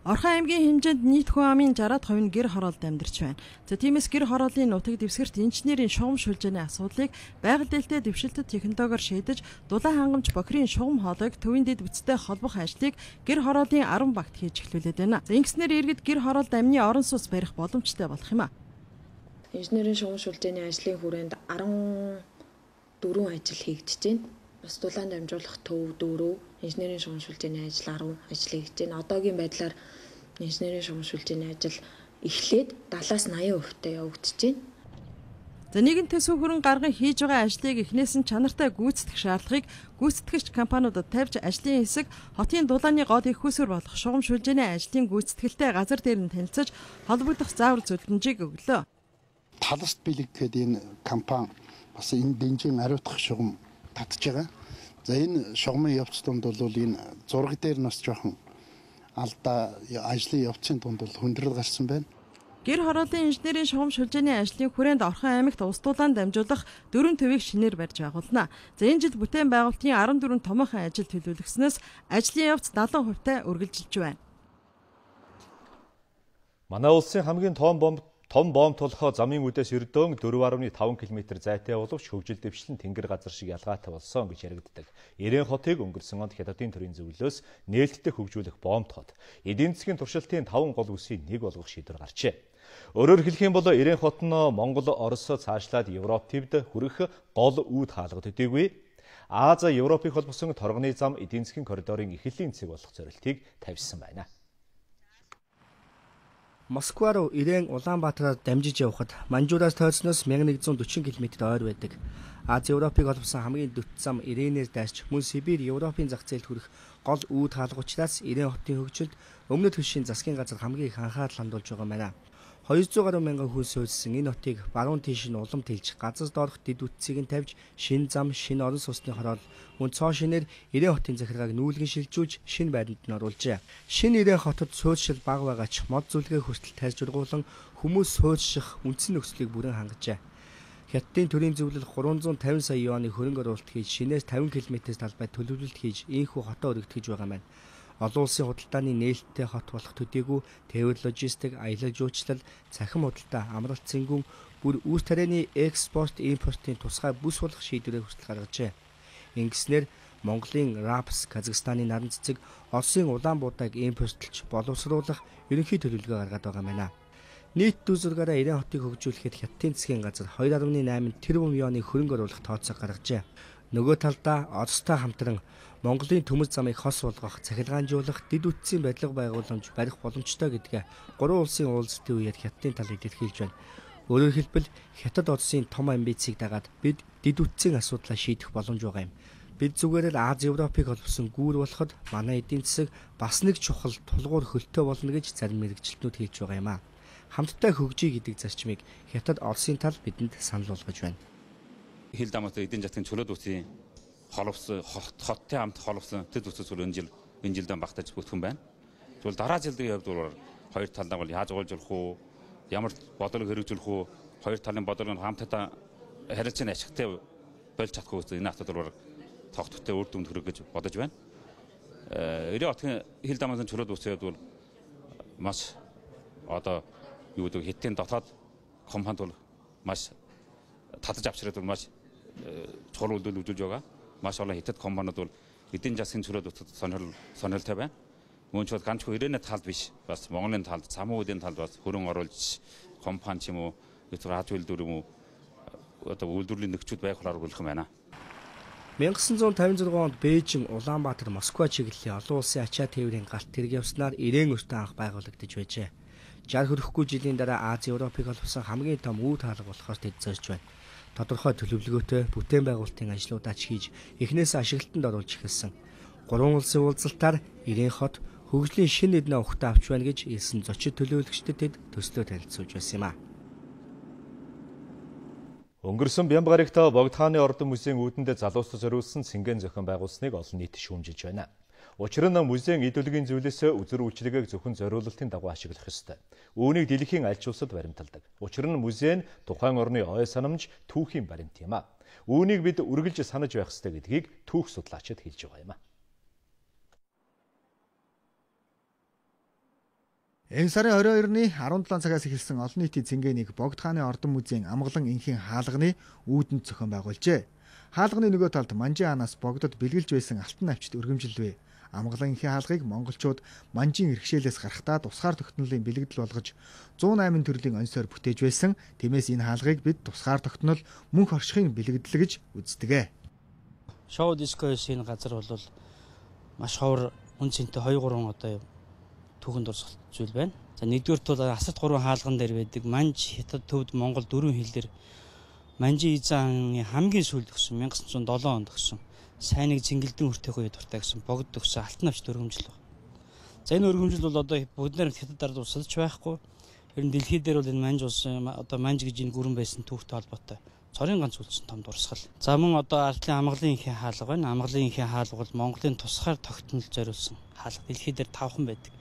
Орхон аймгийн хэмжээнд нийт хүн амын 60% нь гэр хороолд амьдарч байна. За тиймээс гэр хорооллын нутаг дэвсгэрт инженерийн шугам шүлжээний асуудлыг байгаль дэлтэй дэвшилтэд технологиор шийдэж, дулаан хангамж бохирын шугам хоолойг төвийн дэд бүтцтэй холбох ажлыг гэр хорооллын 10 багт хийж эхлүүлээд байна. За ингэснээр иргэд гэр хороолд амны орон сууц барих боломжтой болох юм а. Инженерийн шугам шүлжээний ажлын хүрээнд 14 ажил хийгдэж байна. Бас дулаан дамжуулах төв 4, инженерийн шугам шүлжээний ажил 10 ажил хийж байна. Одоогийн байдлаар инженерийн шугам шүлжээний ажил эхлээд 70-80% явагдаж байна. За нэгэн төсөв хөрөнгө гарган хийж байгаа ажлыг эхнээс нь чанартай гүйцэтгэх шаардлагыг гүйцэтгэгч компаниудад тавьж ажлын хэсэг хотын дулааны гол их хүсвэр болох шугам шүлжээний ажлын гүйцэтгэлтэй газар дээр нь танилцаж холбогдох заавар зөвлөмжийг өглөө. Таласт бэлэг гэхэд энэ компани бас энэ дэнжин ариутгах шугам татж байгаа. За энэ шугамын явц донд бол энэ зураг дээр нас жоохон алдаа ажлын явцын дунд бол хүндрэл гарсан байна. Гэр хорооллын инженерийн шугам шүлжээний ажлын хүрээнд Орхон аймагт ус дулаан дамжуулах 4 төвийг шинээр барьж байгуулна. За энэ жил бүтээн байгуулалтын 14 томоохон ажил төлөвлөгснөөс ажлын явц 70% үргэлжилж байна. Манай улсын хамгийн том бомб тулахаа замын үдээс ердөөн 4.5 км зайтай боловч хөгжил дэвшлэн тэнгэр газар шиг ялгаатай болсон гэж яригддаг. Ирээн хотыг өнгөрсөн онд Хятадын төрийн зөвлөлөөс нээлттэй хөгжүүлэх бомб хот эдийн засгийн туршилтын 5 гол үсийг нэг болгох шийдвэр гарчээ. Өөрөөр хэлэх юм бол Ирээн хот нь Монгол, Орос цаашлаад Европ төвд хүрэх гол үүд хаалгад төдийгүй Аз Европыг холбосон торгоны зам эдийн засгийн коридорын эхлэлийн цэг болох зорилтыг тавьсан байна. Москва руу Ирээн Улаанбаатараар дамжиж явхад Манжуураас тойрсноос 1140 км ойр байдаг. Аз Европыг холбосон хамгийн дөт зам Ирээнээр дайрч мөн Сибирь, Европын зах зээлд хүрэх гол үүд хаалга учраас Ирээн хотын хөгжилд өмнөд хөлшийн засгийн газар хамгийн их анхаарал хандуулж байгаа юм байна. 200 гаруй мянган хүн суурьсан энэ хотыг баруун тийш нь улам тэлж газар доорх дэд үтцийг нь тавьж шин зам, шин орон сууцны хороол мөн цоо шинээр Ирээн хотын захиргааг нүүлгэн шилжүүлж шин байранд нь оруулжээ. Шин Ирээн хотод суурьшил бага байгаач мод зүлгээ хүртэл тарьж ургуулan хүмүүс суурьших үндсэн нөхцөлийг бүрэн хангажээ. Хятадын төрийн зөвлөл 350 сая юаны хөрөнгө оруулалт хийж шинээс 50 км-с талбайд төлөвлөлт хийж ийхүү хотоо өргөдгөж байгаа юм байна. Олон улсын худалдааны нээлттэй хот болох төдийгүй тээвэр логистик, аялал жуулчлал, цахим худалдаа, амралт цэнгүүн бүр үүс тарианы экспорт, импортын тусгай бүс болох шийдвэрээ хүртэл гаргажээ. Ингэснээр Монголын Рапс, Казахстаны наран цэцэг, Оросын улаан буудаг импортлж боловсруулах ерөнхий төлөвлөгөө гаргаад байгаа юм байна. Нийт дүү зургаараа Ирээн хотыг хөгжүүлэхэд Хятадын засгийн газар 2.8 тэрбум юаны хөрөнгө оруулах тооцоо гаргажээ. Нөгөө талдаа Оростой хамтран Монголын төмөр замыг хос болгох, цахилгаанжуулах, дэд үтцийн барилга байгууламж барих боломжтой гэдгээ 3 улсын уулзалтын үеэр Хятадын тал илэрхийлж байна. Өөрөөр хэлбэл Хятад Оросын том амбицийг дагаад бид дэд үтцийн асуудлаа шийдэх боломж байгаа юм. Бид зүгээр л Аз Европыг холбосон гүүр болоход манай эдийн засаг бас нэг чухал тулгуур хөлтөө болно гэж зарим мэрэгчлэтнүүд хэлж байгаа юм а. Хамтдаа хөгжиж гэдэг зарчмыг Хятад Оросын тал бидэнд санал болгож байна. Хил дамаатай эдийн засгийн чөлөөт үсийн холбосон хоттой хамт холбосон дэд үсэг зүйл энэ жилдээ багтаж бүтгэн байна. Тэгвэл дараа жилийн хувьд бол хоёр талдаа бол яаж уулзах уу, ямар бодлого хэрэгжүүлэх үү, хоёр талын бодлогыг хамтдаа харилцааны ашигтай болж чадахгүй энэ асуудал тогтвортой үр дүнд хүрэх гэж бодож байна. Эрийн хотын хил дамаасан чөлөөт үсээд бол маш одоо юу гэдэг хиттийн дотоод компанид бол маш татаж авчираад бол маш чухал үйлдэл үзүүлж байгаа. Маш олон хятад компаниуд бол эдийн засгийн чөлөөт үсэд сонирхолтой байна. Мөн ч бол ганцхан ирээний талд биш, бас Монголын талд, самуудын талд бас хөрөн оруулж компани ч юм уу, эсвэл аж үйлдвэр юм уу одоо үйлдвэрлэлийн нөхцөл байх болохоор болох юм байна. 1956 онд Бээжин, Улаанбаатар, Москва чиглэлийн олон улсын ачаа тээврийн галт тэрэг явснаар Ирээн өртөө анх байгуулагдаж байжээ. 60 хүрэхгүй жилийн дараа Ази Европыг холбосон хамгийн том үүд хаалга болохоор тэд зорж байна. Тодорхой төлөвлөгөөтэй бүтээн байгуулалтын ажлуудаа ч хийж эхнээс ашиглалтанд оруулж эхэлсэн. 3 улсын уулзалтаар Ирээн хот хөгжлийн шинэ эднээ ухтаа авч байна гэж хэлсэн зочид төлөөлөгчдөд тэд төслөө танилцуулж байсан юм а. Өнгөрсөн Бямбгарагт Богд хааны ордон музейн үүдэндээ залуустад зориулсан цэнгэн зохион байгуулсныг олон нийт шүүмжилж байна. Учир нь музейн идеологийн зүйлээс үзэр үйлчлэгийг зөвхөн зориулалтын дагуу ашиглах ёстой. Үүнийг дэлхийн аль ч улсад баримталдаг. Учир нь музей нь тухайн орны ой санамж түүхийн баримт юм а. Үүнийг бид үргэлж санаж байх ёстой гэдгийг түүх судлаачид хэлж байгаа юм а. Энэ сарын 22-ны 17 цагаас эхэлсэн олон нийтийн цэнгэнийг Богд хааны ордон музейн амгалан инхийн хаалганы үүдэнд зохион байгуулжээ. Хаалганы нөгөө талд Манжин хаанаас Богдод бэлгэлж байсан алтан навчид өргөмжилвэ. Амгалан инхийн хаалгыг монголчууд Манжин иргэшээлээс гарахдаа тусгаар тогтнолын бэлэгдэл болгож 108 төрлийн онцоор бүтээж байсан. Тиймээс энэ хаалгыг бид тусгаар тогтнол мөнх оршихын бэлэгдэл гэж үздэг. Шоу дискоос энэ газар бол маш ховор үнцэнтэй 2-3 одоо түүхэнд дурсгалт зүйл байна. За нэгдүгээрт бол Асарт 3 хаалган дээр байдаг Манж хятад төвд Монгол 4 хэлээр Манжин эзэн хамгийн сүүлд өгсөн 1907 онд өгсөн сайныг цэнгэлдэн хүртээх үед дуртай гэсэн Богд өгсөн алтан навчид өргөмжил байна. За энэ өргөмжил бол одоо бүгдээр хятад ард усалж байхгүй. Ер нь дэлхий дээр бол энэ Манж улс одоо Манж гэж энэ гүрэн байсан түүхтэй холбоотой цорын ганц үлдсэн том дурсгал. За мөн одоо ардлын амгалан инхийн хаалга байна. Амгалан инхийн хаалга бол Монголын тусгаар тогтнолд зориулсан хаалга. Дэлхий дээр 5хан байдаг.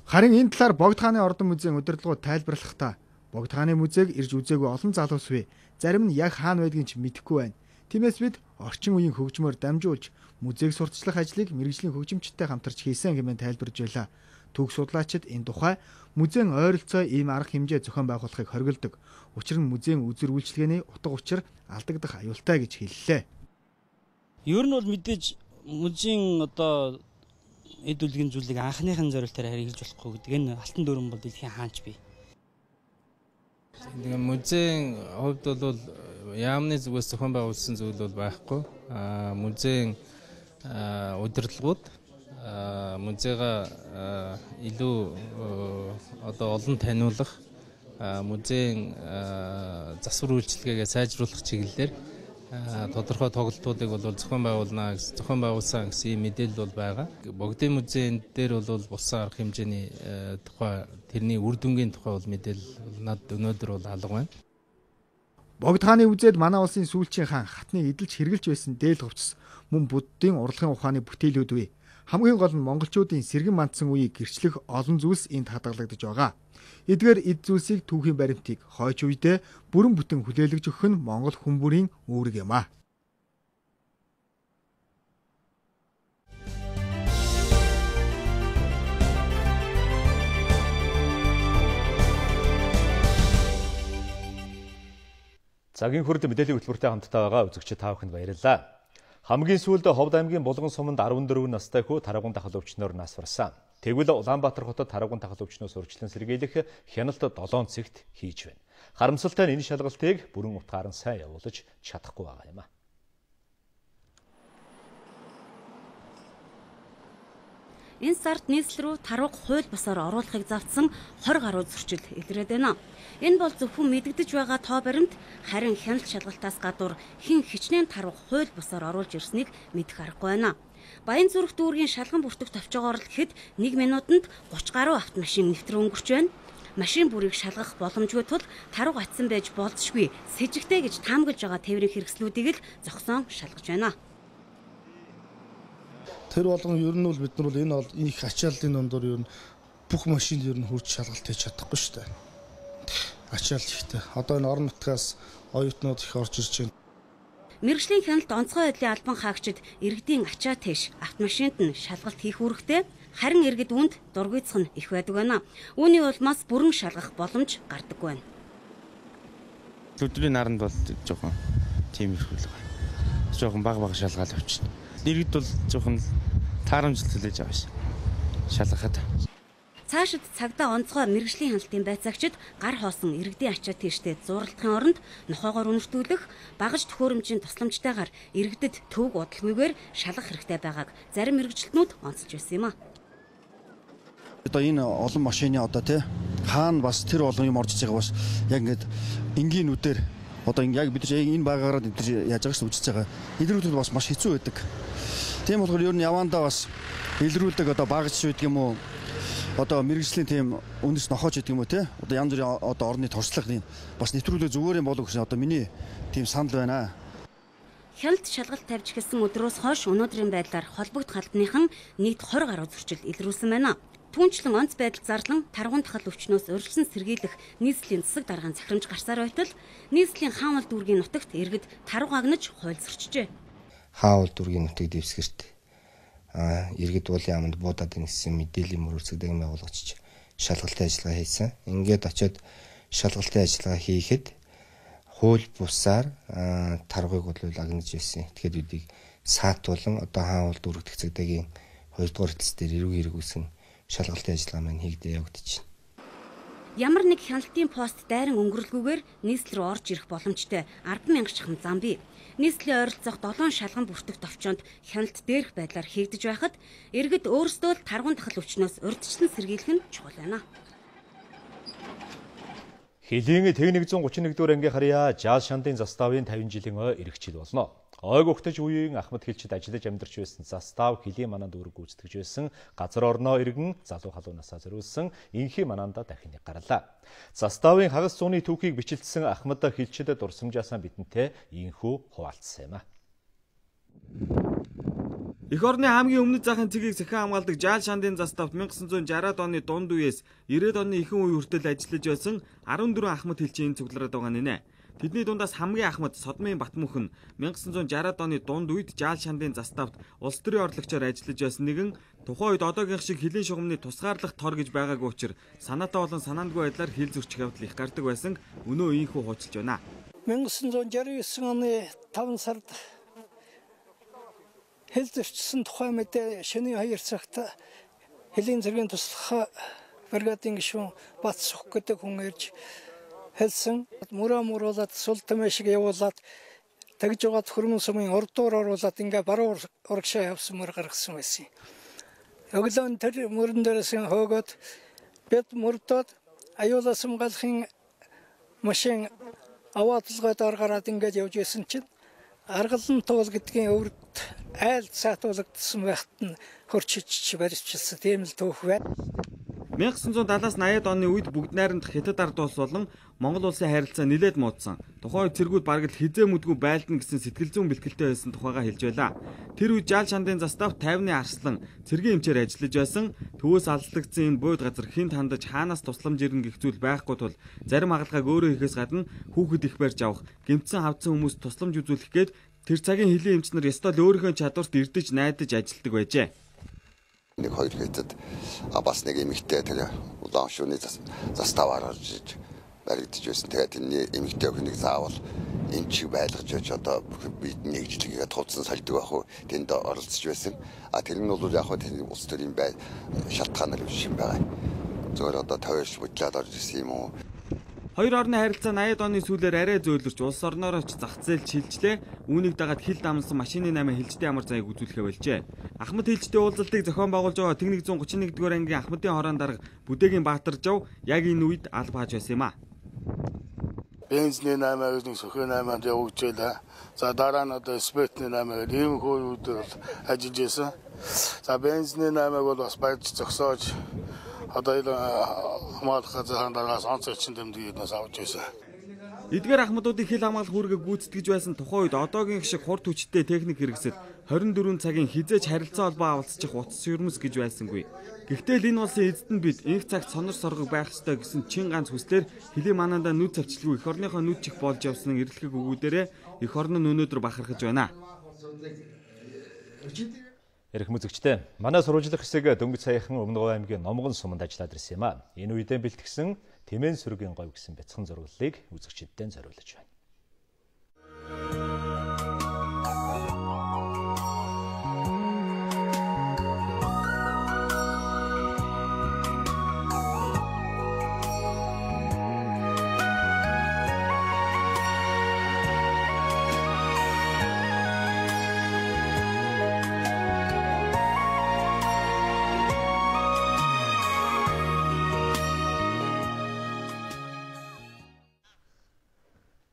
Харин энэ талаар Богд хааны ордон музейн удирдлагууд тайлбарлахдаа Богд хааны музейг ирж үзээгүй олон залуус бий. Зарим нь яг хаана байдгийг ч мэдэхгүй байна. Тиймээс бид орчин үеийн хөгжмөөр дамжуулж музейг сурталчлах ажлыг мэрэгжлийн хөгжимчтэй хамтарч хийсэн хэмээн тайлбарж байлаа. Түүх судлаачид энэ тухай музейн ойролцоо ийм арга хэмжээ зохион байгуулахыг хориглодог. Учир нь музейн үзэр үйлчилгээний утга учир алдагдах аюултай гэж хэллээ. Ер нь бол мэдээж музейн одоо эд үлгийн зүйлийг анхныхын зорилтоор хэрэгжилж болохгүй гэдэг энэ алтан дүрэн бол дэлхийн хаанч бий. Тэгээ музейн хувьд бол яамны зүгээс зохион байгуулсан зүйл бол байхгүй. Музейн удирдлагууд музейга илүү одоо олон таниулах, музейн засвар үйлчилгээгээ сайжруулах чиглэлээр тодорхой тоглолтуудыг бол зохион байгуулсан гэсэн мэдээлэл бол байгаа. Богдын музейн дээр бол улсын арга хэмжээний тухай тэрний үр дүнгийн тухай бол мэдээлэл над өнөөдөр бол алга байна. Богд хааны үзээд манай улсын сүүлчийн хаан хатныг эдэлж хэрглэж байсан дээл хувцас мөн буддын урлагийн ухааны бүтээлүүд бий. Хамгийн гол нь монголчуудын сэргэн мандсан үеийг гэрчлэх олон зүйлс энд хадгалагдаж байгаа. Эдгээр эд зүйлсийг түүхийн баримтыг хойч үедээ бүрэн бүтэн хүлээлгэж өгөх нь Монгол хүн бүрийн үүрэг юм а. Цагийн хүрд мэдээллийн хөтөлбөртэй хамтдаа байгаа үзэгчид та бүхэнд баярлалаа. Хамгийн сүүлд Ховд аймгийн Булган суманд 14 настай хүү тарагун тахал өвчнөөр нас барсан. Тэгвэл Улаанбаатар хотод тарагун тахал өвчнөөс урьдчилан сэргийлэх хяналт 7 цэгт хийж байна. Харамсалтай нь энэ шалгалтыг бүрэн утгаар нь сайн явуулж чадахгүй байгаа юм а. Энэ сард нийслэл рүү тарваг хууль бусаар оруулахыг завдсан 20 гаруй зөрчил илрээд байна. Энэ бол зөвхөн мэдэгдэж байгаа тоо баримт, харин хяналт шалгалтаас гадуур хэн хичнээн тарваг хууль бусаар оруулж ирснийг мэдэх аргагүй байна. Баянзүрх дүүргийн шалган бүртгэгт авчаагаар л гэхэд 1 минутанд 30 гаруй автомашин нэвтрэн өнгөрч байна. Машин бүрийг шалгах боломжгүй тул тарваг атсан байж болзошгүй сэжигтэй гэж таамаглаж байгаа тээврийн хэрэгслүүдийг л зогсоон шалгаж байна. Тэр болгон ер нь бол бид нар энэ бол их ачааллын дондор ер нь бүх машинд ер нь хурж шалгалт хийж чадахгүй шүү дээ. Ачаал ихтэй. Одоо энэ орон нутгаас оюутнууд их орж ирж байна. Мэргэжлийн хяналт онцгой байдлын албан хаагчид иргэдийн ачаа тэш автомашинд нь шалгалт хийх үүрэгтэй, харин иргэд үүнд дургүйцэх нь их байдаг байна. Үүний улмаас бүрэн шалгах боломж гардаггүй байна. Өдрийн наранд бол жоохон тиймэрхүү л байна. Жоохон бага шалгаал авчихна. Иргэд бол жоохон таарамжлал хүлээж байгаа ш. Шалгахад. Цаашид цагдаа онцгой мэргэжлийн хяналтын байцаагчид гар хоосон иргэдийн ачаа тийштэй зууралдахын оронд нохоогоор үнэртүүлэх, багаж төхөөрөмжийн тусламжтайгаар иргэдэд төвөг удалгүйгээр шалгах хэрэгтэй байгааг зарим мэргэжилтнүүд онцолж байсан юм а. Одоо энэ олон машины одоо тий хаана бас тэр олон юм орж иж байгаа бас яг ингээд энгийн нүдээр одоо яг бид нар энэ байгаараа бид нар яаж байгаа шүү үзэж байгаа. Илрүүлэлт бас маш хэцүү байдаг. Тийм болохоор ер нь явандаа бас илрүүлдэг одоо багаж байдаг юм уу? Одоо мэргэжлийн тийм үндэс нохоож гэдэг юм уу те одоо янз бүрийн одоо орны туршлага юм бас нэвтрүүлэг зүгээр юм болов гэсэн одоо миний тийм санал байна. Хяналт шалгалт тавьж эхэлсэн өдрөөс хойш өнөөдрийн байдлаар холбогд халбаныхан нийт 20 гаруй зөрчил илрүүлсэн байна. Түүнчлэн онц байдал зарлан таргуун дахал өвчнөөс өргөсөн сэргийлэх нийслэлийн засаг даргааны захирамж гарсаар байтал нийслэлийн хаанвал дүүргийн нутагт иргэд таруу гагнаж хуйлсарчжээ. Хаанвал дүүргийн нутаг дэвсгэрт иргэд уулын аманд буудаад ингэсэн мэдээллийн мөр үзэгдэг байгуулагч шалгалтын ажиллагаа хийсэн. Ингээд очиод шалгалтын ажиллагаа хийхэд хууль бусаар таргыг бол агнаж байсан. Тэгэхээр бидийг саатуулан одоо хаанвал дүүргэх цэгдэгийн 2 дугаар хэлтс дээр эрүүг хэрэгүүлсэн шалгалтын ажиллагаа маань хийгдээ явагдаж байна. Ямар нэг хяналтын пост дайран өнгөрлгүйгээр нийслэл рүү орж ирэх боломжтой 10,000 чахам зам бий. Нийслэлийн ойролцоох 7 шалган бүртгэх товчоонд хяналт дээрх байдлаар хийгдэж байхад иргэд өөрсдөө л таргуун дахал өвчнөөс урьдчилан сэргийлэх нь чухал байна. Хилийн 131 дугаар ангийн харьяа жаал шандын заставын 50 жилийн ирэх жил болно. Ойг угтаж үеийн Ахмад хэлчид ажиллаж амьдарч байсан застав хилийн мананд үүрэг гүйцэтгэж байсан газар орноо иргэн залуу халуунасаа зориулсан инхи манаанда дахин нэг гарлаа. Заставын хагас зууны түүхийг бичлэлсэн Ахмад хэлчид дурсамжаасаа бидэнтэй инхүү хуваалцсан юм а. Эх орны хамгийн өмнөд захын цэгийг сахин хамгаалдаг жаал шандын заставт 1960-ад оны дунд үеэс 90-ад оны ихэнх үе хүртэл ажиллаж байсан 14 Ахмад хэлчийн цуглараад байгаа нэ. Тэдний дундаас хамгийн Ахмад Содмын Батмүхэн 1960-ад оны дунд үед жаал шандын заставт улс төрийн орлогчоор ажиллаж байсан нэгэн тухайн үед одоогийн шиг хилийн шугамны тусгаарлах тор гэж байгаагүй учраас санаатай болон санаандгүй байдлаар хил зөрчих явдал их гардаг байсан өнөө ийхүү хуучилж байна. 1969 оны 5 сард хил зөрчсөн тухай мэдээ шөнийн 2 цагт хилийн зэргийн туслах бригадын гишүүн Бат Сүх гэдэг хүн ирж хэлсэн мууруулаад сул тэмэшиг явуулаад тэгж байгаа хөрмөн сумын урдуур оруулаад ингээ баруун урагшаа явсан мөр гаргасан байсан. Өглөө тэр мөрөн дээрээс хөөгөөд бид мөрдөөд аюулаас хамгаалахын машин аваадлогоор гараад ингээд явж исэн чинь аргалан туул гэдгийн өвөрт айл цаатуулагдсан байхад нь хөрчиж барьчихсан тийм л түүх байна. 1970-аас 80-ад оны үед бүгд найрамдах Хятад ард улс болон Монгол улсын харилцаа нэлээд муудсан. Тухайн үед цэргүүд бараг л хизээ мүдгүй байлдана гэсэн сэтгэл зүйн бэлтгэлтэй байсан тухайга хэлж байлаа. Тэр үед жаал шандын застав 50-ны арслан цэргийн эмчээр ажиллаж байсан. Төвөөс алслагдсан энэ бууд газар хинт хандаж хаанаас тусламж ирнэ гэх зүйл байхгүй тул зарим хагалгааг өөрөө хийхээс гадна хүүхэд их барьж авах, гэмтсэн хавцсан хүмүүст тусламж үзүүлэх гээд тэр цагийн хилийн эмч нар ёстой л өөрийнхөө чадварт эрдэж найдаж ажилладаг байжээ. Нэг хоёр хэдэд бас нэг эмэгтэй тэгээ улаан шууны заставаар орж баригдаж байсан. Тэгээд энэ эмэгтэй өхнийг заавал эмчиг байлгаж өгч одоо бид нэгжлэгээ тулцсан сольдог байх уу тэнд оролцож байсан. Тэр нь бол яг хөө тэний улс төрийн шалтгаанаар шин байгаа. Зөвөр одоо тойрч бутлаад орж ирсэн юм уу? Хоёр орны харилцаа 80-ад оны сүүлээр арай зөөлрч улс орноор ч зах зээл шилжлээ. Үүнийг дагаад хил дамнсан машины 8 хилжтэй ямар зайг үзүүлэхэ болжээ. Ахмад хэлчдийн уулзалтыг зохион байгуулж байгаа Тэг 131 дугаар ангийн Ахмадын хорон дарга Бүдээгийн Баатар Жав яг энэ үед алба хааж байсан юм а. Бензний 8-аас нэг сөхөө 8-анд явуулжээ. За дараа нь одоо спиртний 8-аар ийм хөөд ажиллаж байсан. За бензний 8-аг бол бас барьж зогсоож одоо хамгаалах газрын дараагаас онцгой чин дэмдгийг нас авч байсан. Эдгээр ахмадуудын хил хамгаалах үүргийг гүйцэтгэж байсан тухайн үед одоогийн шиг хурд хүчтэй техник хэрэгсэл 24 цагийн хизээч харилцаа холбоо авалцчих утас юрмс гэж байсангүй. Гэхдээ энэ улсын эзэд нь бид инх цагт сонор соргог байх ёстой гэсэн чин ганц хүслээр хилийн манаандаа нүд цавчлгүй эх орныхоо нүд чих болж явсан эрэлхэг өгүүдээрээ эх орн нь өнөөдөр бахархаж байна. Эрхэм үзэгчдээ, манай сурвалжлах хэсэг дөнгөж саяхан Өмнөговь аймгийн Номгон суманд ажиллаад ирсэн юм а. Энэ үедээ бэлтгэсэн Тэмээн сүргийн говь гэсэн бяцхан зурглалыг үзэгчдэд зориулж байна.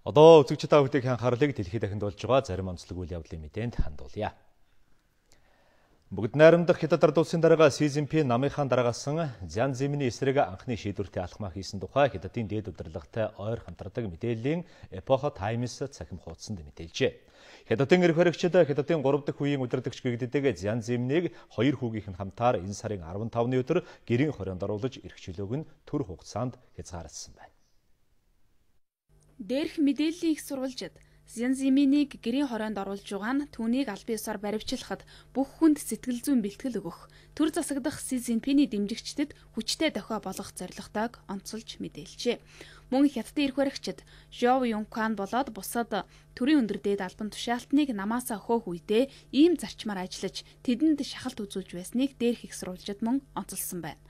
Одоо үзэгчид та бүхэнд анхаарлыг дэлхийд дахинд болж байгаа зарим онцлог үйл явдлын мэдээнд хандуулъя. Бүгд найрамдах Хятад ард улсын дарга Си Цзиньпин намынхаа дараагасан Зян Зиминий эсрэг анхны шийдвэртэй алхмаа хийсэн тухай Хятадын дээд удирдлагатай ойр хамтардаг мэдээллийн Epoch Times цахим хуудсанд мэдээлжээ. Хятадын эрх баригчид Хятадын 3 дахь үеийн удирдагч гэгддэг Зян Зимнийг 2 хүүгийнх нь хамтаар энэ сарын 15-ны өдөр гэрийн хорионд оруулж эрх чөлөөг нь төр хугацаанд хязгаарласан байна. Дээрх мэдээллийн их сурвалжид Зян Зиминийг гэрийн хорионд оруулж байгаа нь түүнийг албан ёсоор баривчлахад бүх хүнд сэтгэл зүйн бэлтгэл өгөх, төр засагдах Си Цзиньпиний дэмжигчдэд хүчтэй дохио болгох зорилготойг онцолж мэдээлжээ. Мөн Хятадын эрх баригчид Жов Юнкан болоод бусад төрийн өндөр дээд албан тушаалтныг намаасаа хөөх үедээ ийм зарчмаар ажиллаж тэдэнд шахалт үзүүлж байсныг дээрх их сурвалжид мөн онцолсон байна.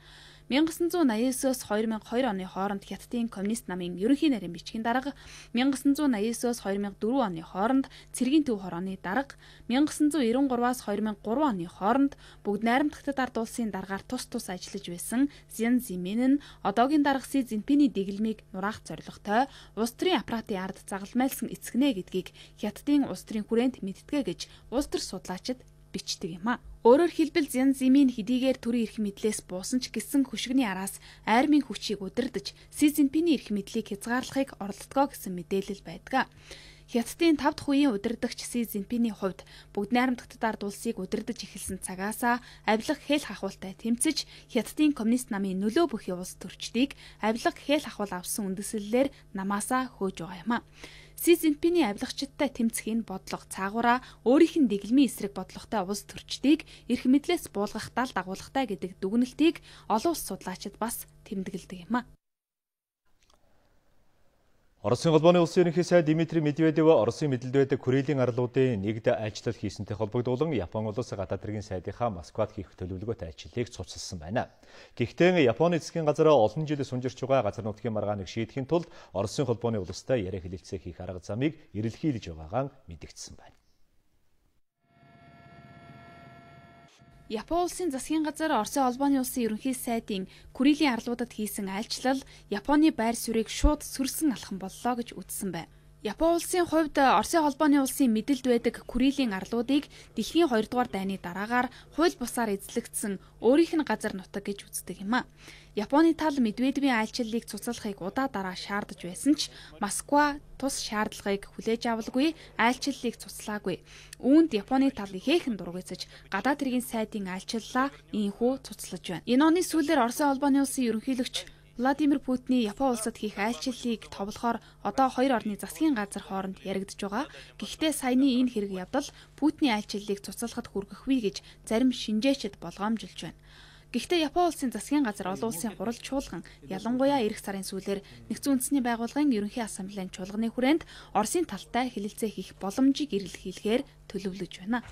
1989-с 2002 оны хооронд Хятадын коммунист намын ерөнхий нарийн бичгийн дарга, 1989-с 2004 оны хооронд цэргийн төв хорооны дарга, 1993-аас 2003 оны хооронд бүгд найрамдах Хятад ард улсын даргаар тус ажиллаж байсан Зян Зимин нь одоогийн дарга Си Цзиньпиний дэглэмийг нураах зорилготой улс төрийн аппаратын ард загалмайлсан эцгнэ гэдгийг Хятадын улс төрийн хүрээнд мэдтгэ гэж улс төр судлаачид бичдэг юм а. Өөрөөр хэлбэл Зян Зимин хэдийгээр төрийн эрх мэдлээс буусан ч гэсэн хөшгөний араас айрмын хүчийг удирдах Си Цзиньпиний эрх мэдлийг хязгаарлахыг оролддгоо гэсэн мэдээлэл байдаг. Хятадын 5 дахь үеийн удирдагч Си Цзиньпиний хувьд бүгд найрамдах Хятад ард улсыг удирдах эхэлсэн цагаасаа авилах хэл хахуултай тэмцэж Хятадын коммунист намын нөлөө бүхий улс төрчдийг авилах хэл хахуул авсан үндэслэлээр намаасаа хөөж байгаа юм а. Си Цзиньпиний авилагчдтай тэмцэхийн бодлого цаагаараа өөрийнх нь дэглэмийн эсрэг бодлоготой улс төрчдийг эрх мэдлээс буулгах дал дагуулгатай гэдэг дүгнэлтийг олон улс судлаачид бас тэмдэглэдэг юм а. Оросын холбооны улсын ерөнхий сайд Дмитрий Медведев Оросын мэдлэлд байдаг хүрээлэн арлуудын нэгд айлчлал хийсэнтэй холбогдуулан Японы улс гадаад хэргийн сайдынхаа Москвад хийх төлөвлөгөөт айлчлалыг цуцлсан байна. Гэхдээ Японы засгийн газар олон жил сунжирч байгаа газар нутгийн маргааныг шийдэхин тулд Оросын холбооны улстай яриа хэлэлцээ хийх арга замыг эрэлхийлж байгаагаа мэдэгдсэн байна. Японы улсын засгийн газар Оросын холбооны улсын ерөнхий сайдын хүрээлийн арлуудад хийсэн айлчлал Японы байр суурийг шууд сүрсэн алхам боллоо гэж үзсэн байна. Японы улсын хувьд Оросын холбооны улсын мэдэлд байдаг хүрээлийн арлуудыг дэлхийн 2 дугаар дайны дараагаар хууль бусаар эзлэгдсэн өөрийнх нь газар нутаг гэж үздэг юм а. Японы тал Медведевийн айлчлалыг цуцлахыг удаа дараа шаардаж байсан ч Москва тус шаардлагыг хүлээж авалгүй, айлчлалыг цуцлаагүй. Үүнд Японы тал ихээхэн дургуйцаж гадаад хэргийн сайдын айлчлалаа ийхүү цуцлаж байна. Энэ оны сүүлээр Оросын холбооны улсын ерөнхийлөгч Владимир Путиний Японы улсад хийх айлчлалыг товлохоор одоо хоёр орны засгийн газар хооронд яригдж байгаа. Гэхдээ саяны энэ хэрэг явдал Путиний айлчлалыг цуцлахад хүргэхгүй гэж зарим шинжээчид болгоомжилж байна. Гэхдээ Японы улсын засгийн газар олон улсын хурал чуулган ялангуяа эх сарын сүүлээр Нэгдсэн үндэсний байгууллагын ерөнхий ассамблеийн чуулганы хүрээнд Оросын талтай хэлэлцээ хийх боломжийг эрэлхийлэхээр төлөвлөж байна.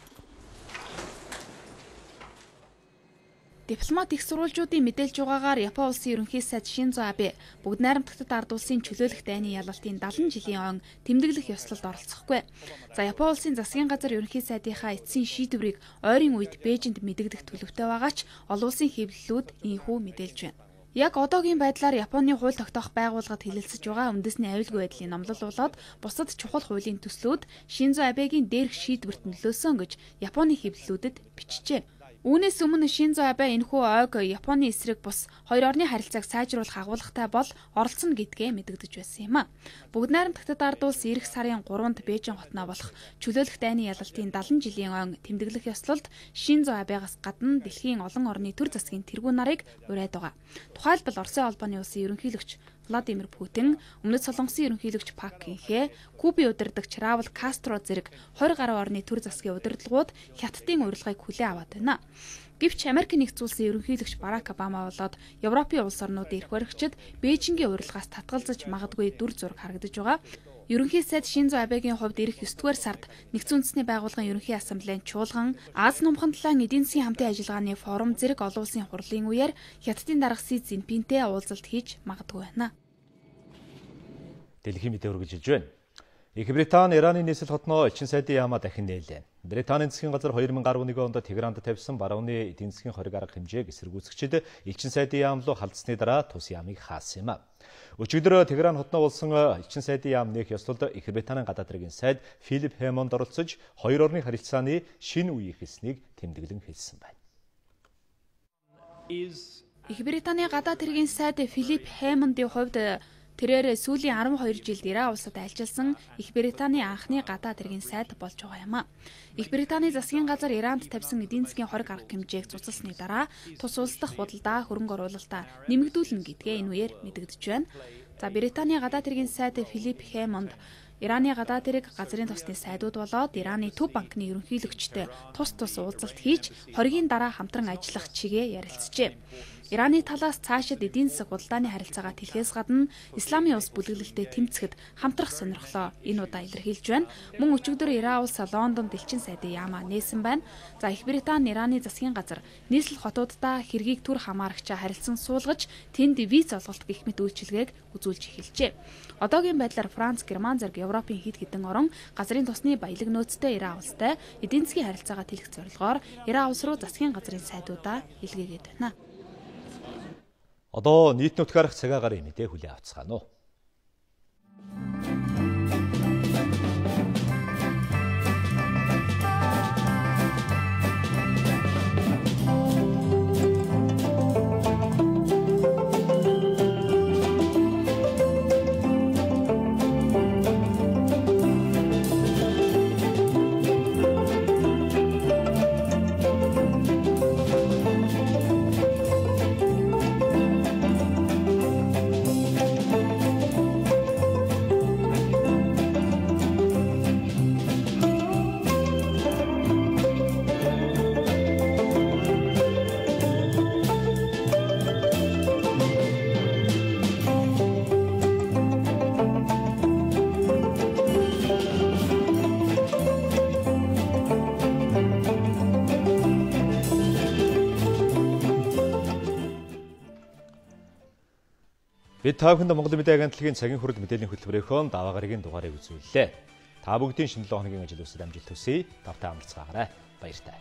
Дипломат их сурвалжуудын мэдээлж байгаагаар Японы улсын ерөнхий сайд Шинзо Абе бүгд найрамдах Хятад ард улсын чөлөөлөх дайны ялалтын 70 жилийн он тэмдэглэх ёслолд оролцохгүй. За Японы улсын засгийн газар ерөнхий сайдынхаа эцсийн шийдвэрийг ойрын үед Бээжинд мэдэгдэх төлөвтэй байгаа ч олон улсын хэвлэлүүд ийхүү мэдээлж байна. Яг одоогийн байдлаар Японы хууль тогтоох байгууллагад хэлэлцэж байгаа үндэсний аюулгүй байдлын номлол болоод бусад чухал хуулийн төслүүд Шинзо Абегийн дээрх шийдвэрт нөлөөсөн гэж Японы хэвлэлүүдэд бичжээ. Үүнээс өмнө Шинзо Абе энэхүү ойг Японы эсрэг бус хоёр орны харилцааг сайжруулах агуулгатай бол оролцоно гэдгээ мэдэгдэж байсан юм а. Бүгд найрамд Хятад ард улс эх сарын 3-нд Бээжин хотноо болох чөлөөлөх дайны ялалтын 70 жилийн ойн тэмдэглэх ёслолд Шинзо Абегаас гадна дэлхийн олон орны төр засгийн тэргүүн нарыг урайд байгаа. Тухайлбал Оросын холбооны улсын ерөнхийлөгч Владимир Путин, Өмнөд Солонгосын ерөнхийлөгч Пак Гинхэ, Кубын удирдагч Раул Кастро зэрэг 20 гаруй орны төр засгийн удирдлагууд Хятадын урилгыг хүлээн аваад байна. Гэвч Америк нэгдсэн улсын ерөнхийлөгч Барак Обама болоод Европын улс орнуудын эрх баригчид Бээжингийн урилгаас татгалзаж магадгүй дүр зураг харагдаж байгаа. Ерөнхий сайд Шинзо Абегийн хувьд ирэх 9-р сард Нэгдсэн үндэсний байгууллагын ерөнхий ассамблеийн чуулган Аз номхон талаан эдийн засгийн хамтын ажиллагааны форум зэрэг олон улсын хурлын үеэр Хятадын дарга Си Цзиньпинтэй уулзалт хийж магадгүй байна. Дэлхийн мэдээ үргэлжилж байна. Их Британи Ираны нийслэл хотноо элчин сайдын яамаа дахин нээлээ. Британийн засгийн газар 2011 онд Тегеранд тавьсан барууны эдийн засгийн хориг арга хэмжээг эсэргүүцэгчид элчин сайдын яам руу халдсны дараа тус яамыг хаасан юм а. Өчигдөр Тегеран хотноо болсон элчин сайдын яам нээх ёслолд Их Британийн гадаад хэргийн сайд Филип Хэмонд оролцож хоёр орны харилцааны шинэ үе эхэлснийг тэмдэглэн хэлсэн байна. Их Британийн гадаад хэргийн сайд Филип Хэмондын хувьд тэрээр сүүлийн 12 жилд Иран улсад альчилсан Их Британийн анхны гадаад хэргийн сайд болж байгаа юм а. Их Британийн засгийн газар Иранд тавьсан эдийн засгийн хориг арга хэмжээг цуцалсны дараа тус улс дахь худалдаа хөрөнгө оруулалтаа нэмэгдүүлнэ гэдгээ энэ үеэр мэдэгдэж байна. За Британийн гадаад хэргийн сайд Филип Хэмонд Ираны гадаад хэрэг газрын тосны сайдууд болоод Ираны төв банкны ерөнхийлөгчтэй тус уулзалт хийж хоригийн дараа хамтран ажиллах чигээ ярилцжээ. Ираны талаас цаашид эдийн засаг худалдааны харилцаагаа тэлхээс гадна исламын улс бүлэглэлтэд тэмцэхэд хамтрах сонирхлоо энэ удаа илэрхийлж байна. Мөн өчигдөр Иран улс Лондонд элчин сайдын яамаа нээсэн байна. За Их Британи Ираны засгийн газар нийслэл хотуудаа хэргийг түр хамаарагчаа харилцан суулгаж тэнд виз олголт гэх мэт үйлчилгээг үзүүлж эхэлжээ. Одоогийн байдлаар Франц, Герман зэрэг Европын хэд хэдэн орон газрын тосны баялаг нөөцтэй Иран улстай эдийн засгийн харилцаагаа тэлэх зорилгоор Иран улс руу засгийн газрын сайдуудаа илгээгээд байна. Одоо нийт нутгаарх цагаагаар мэдээ хүлээн авцгаана уу. Бид та бүхэнд Монгол Мэдээ агентлагийн цагийн хүрэл мэдээллийн хөтөлбөрөөхөн даваа гарагийн дугаарыг үзүүллээ. Та бүгдийн шинэ 7 хоногийн ажил үсэд амжилт хүсье. Тавтай амарцгаагаарай. Баяртай.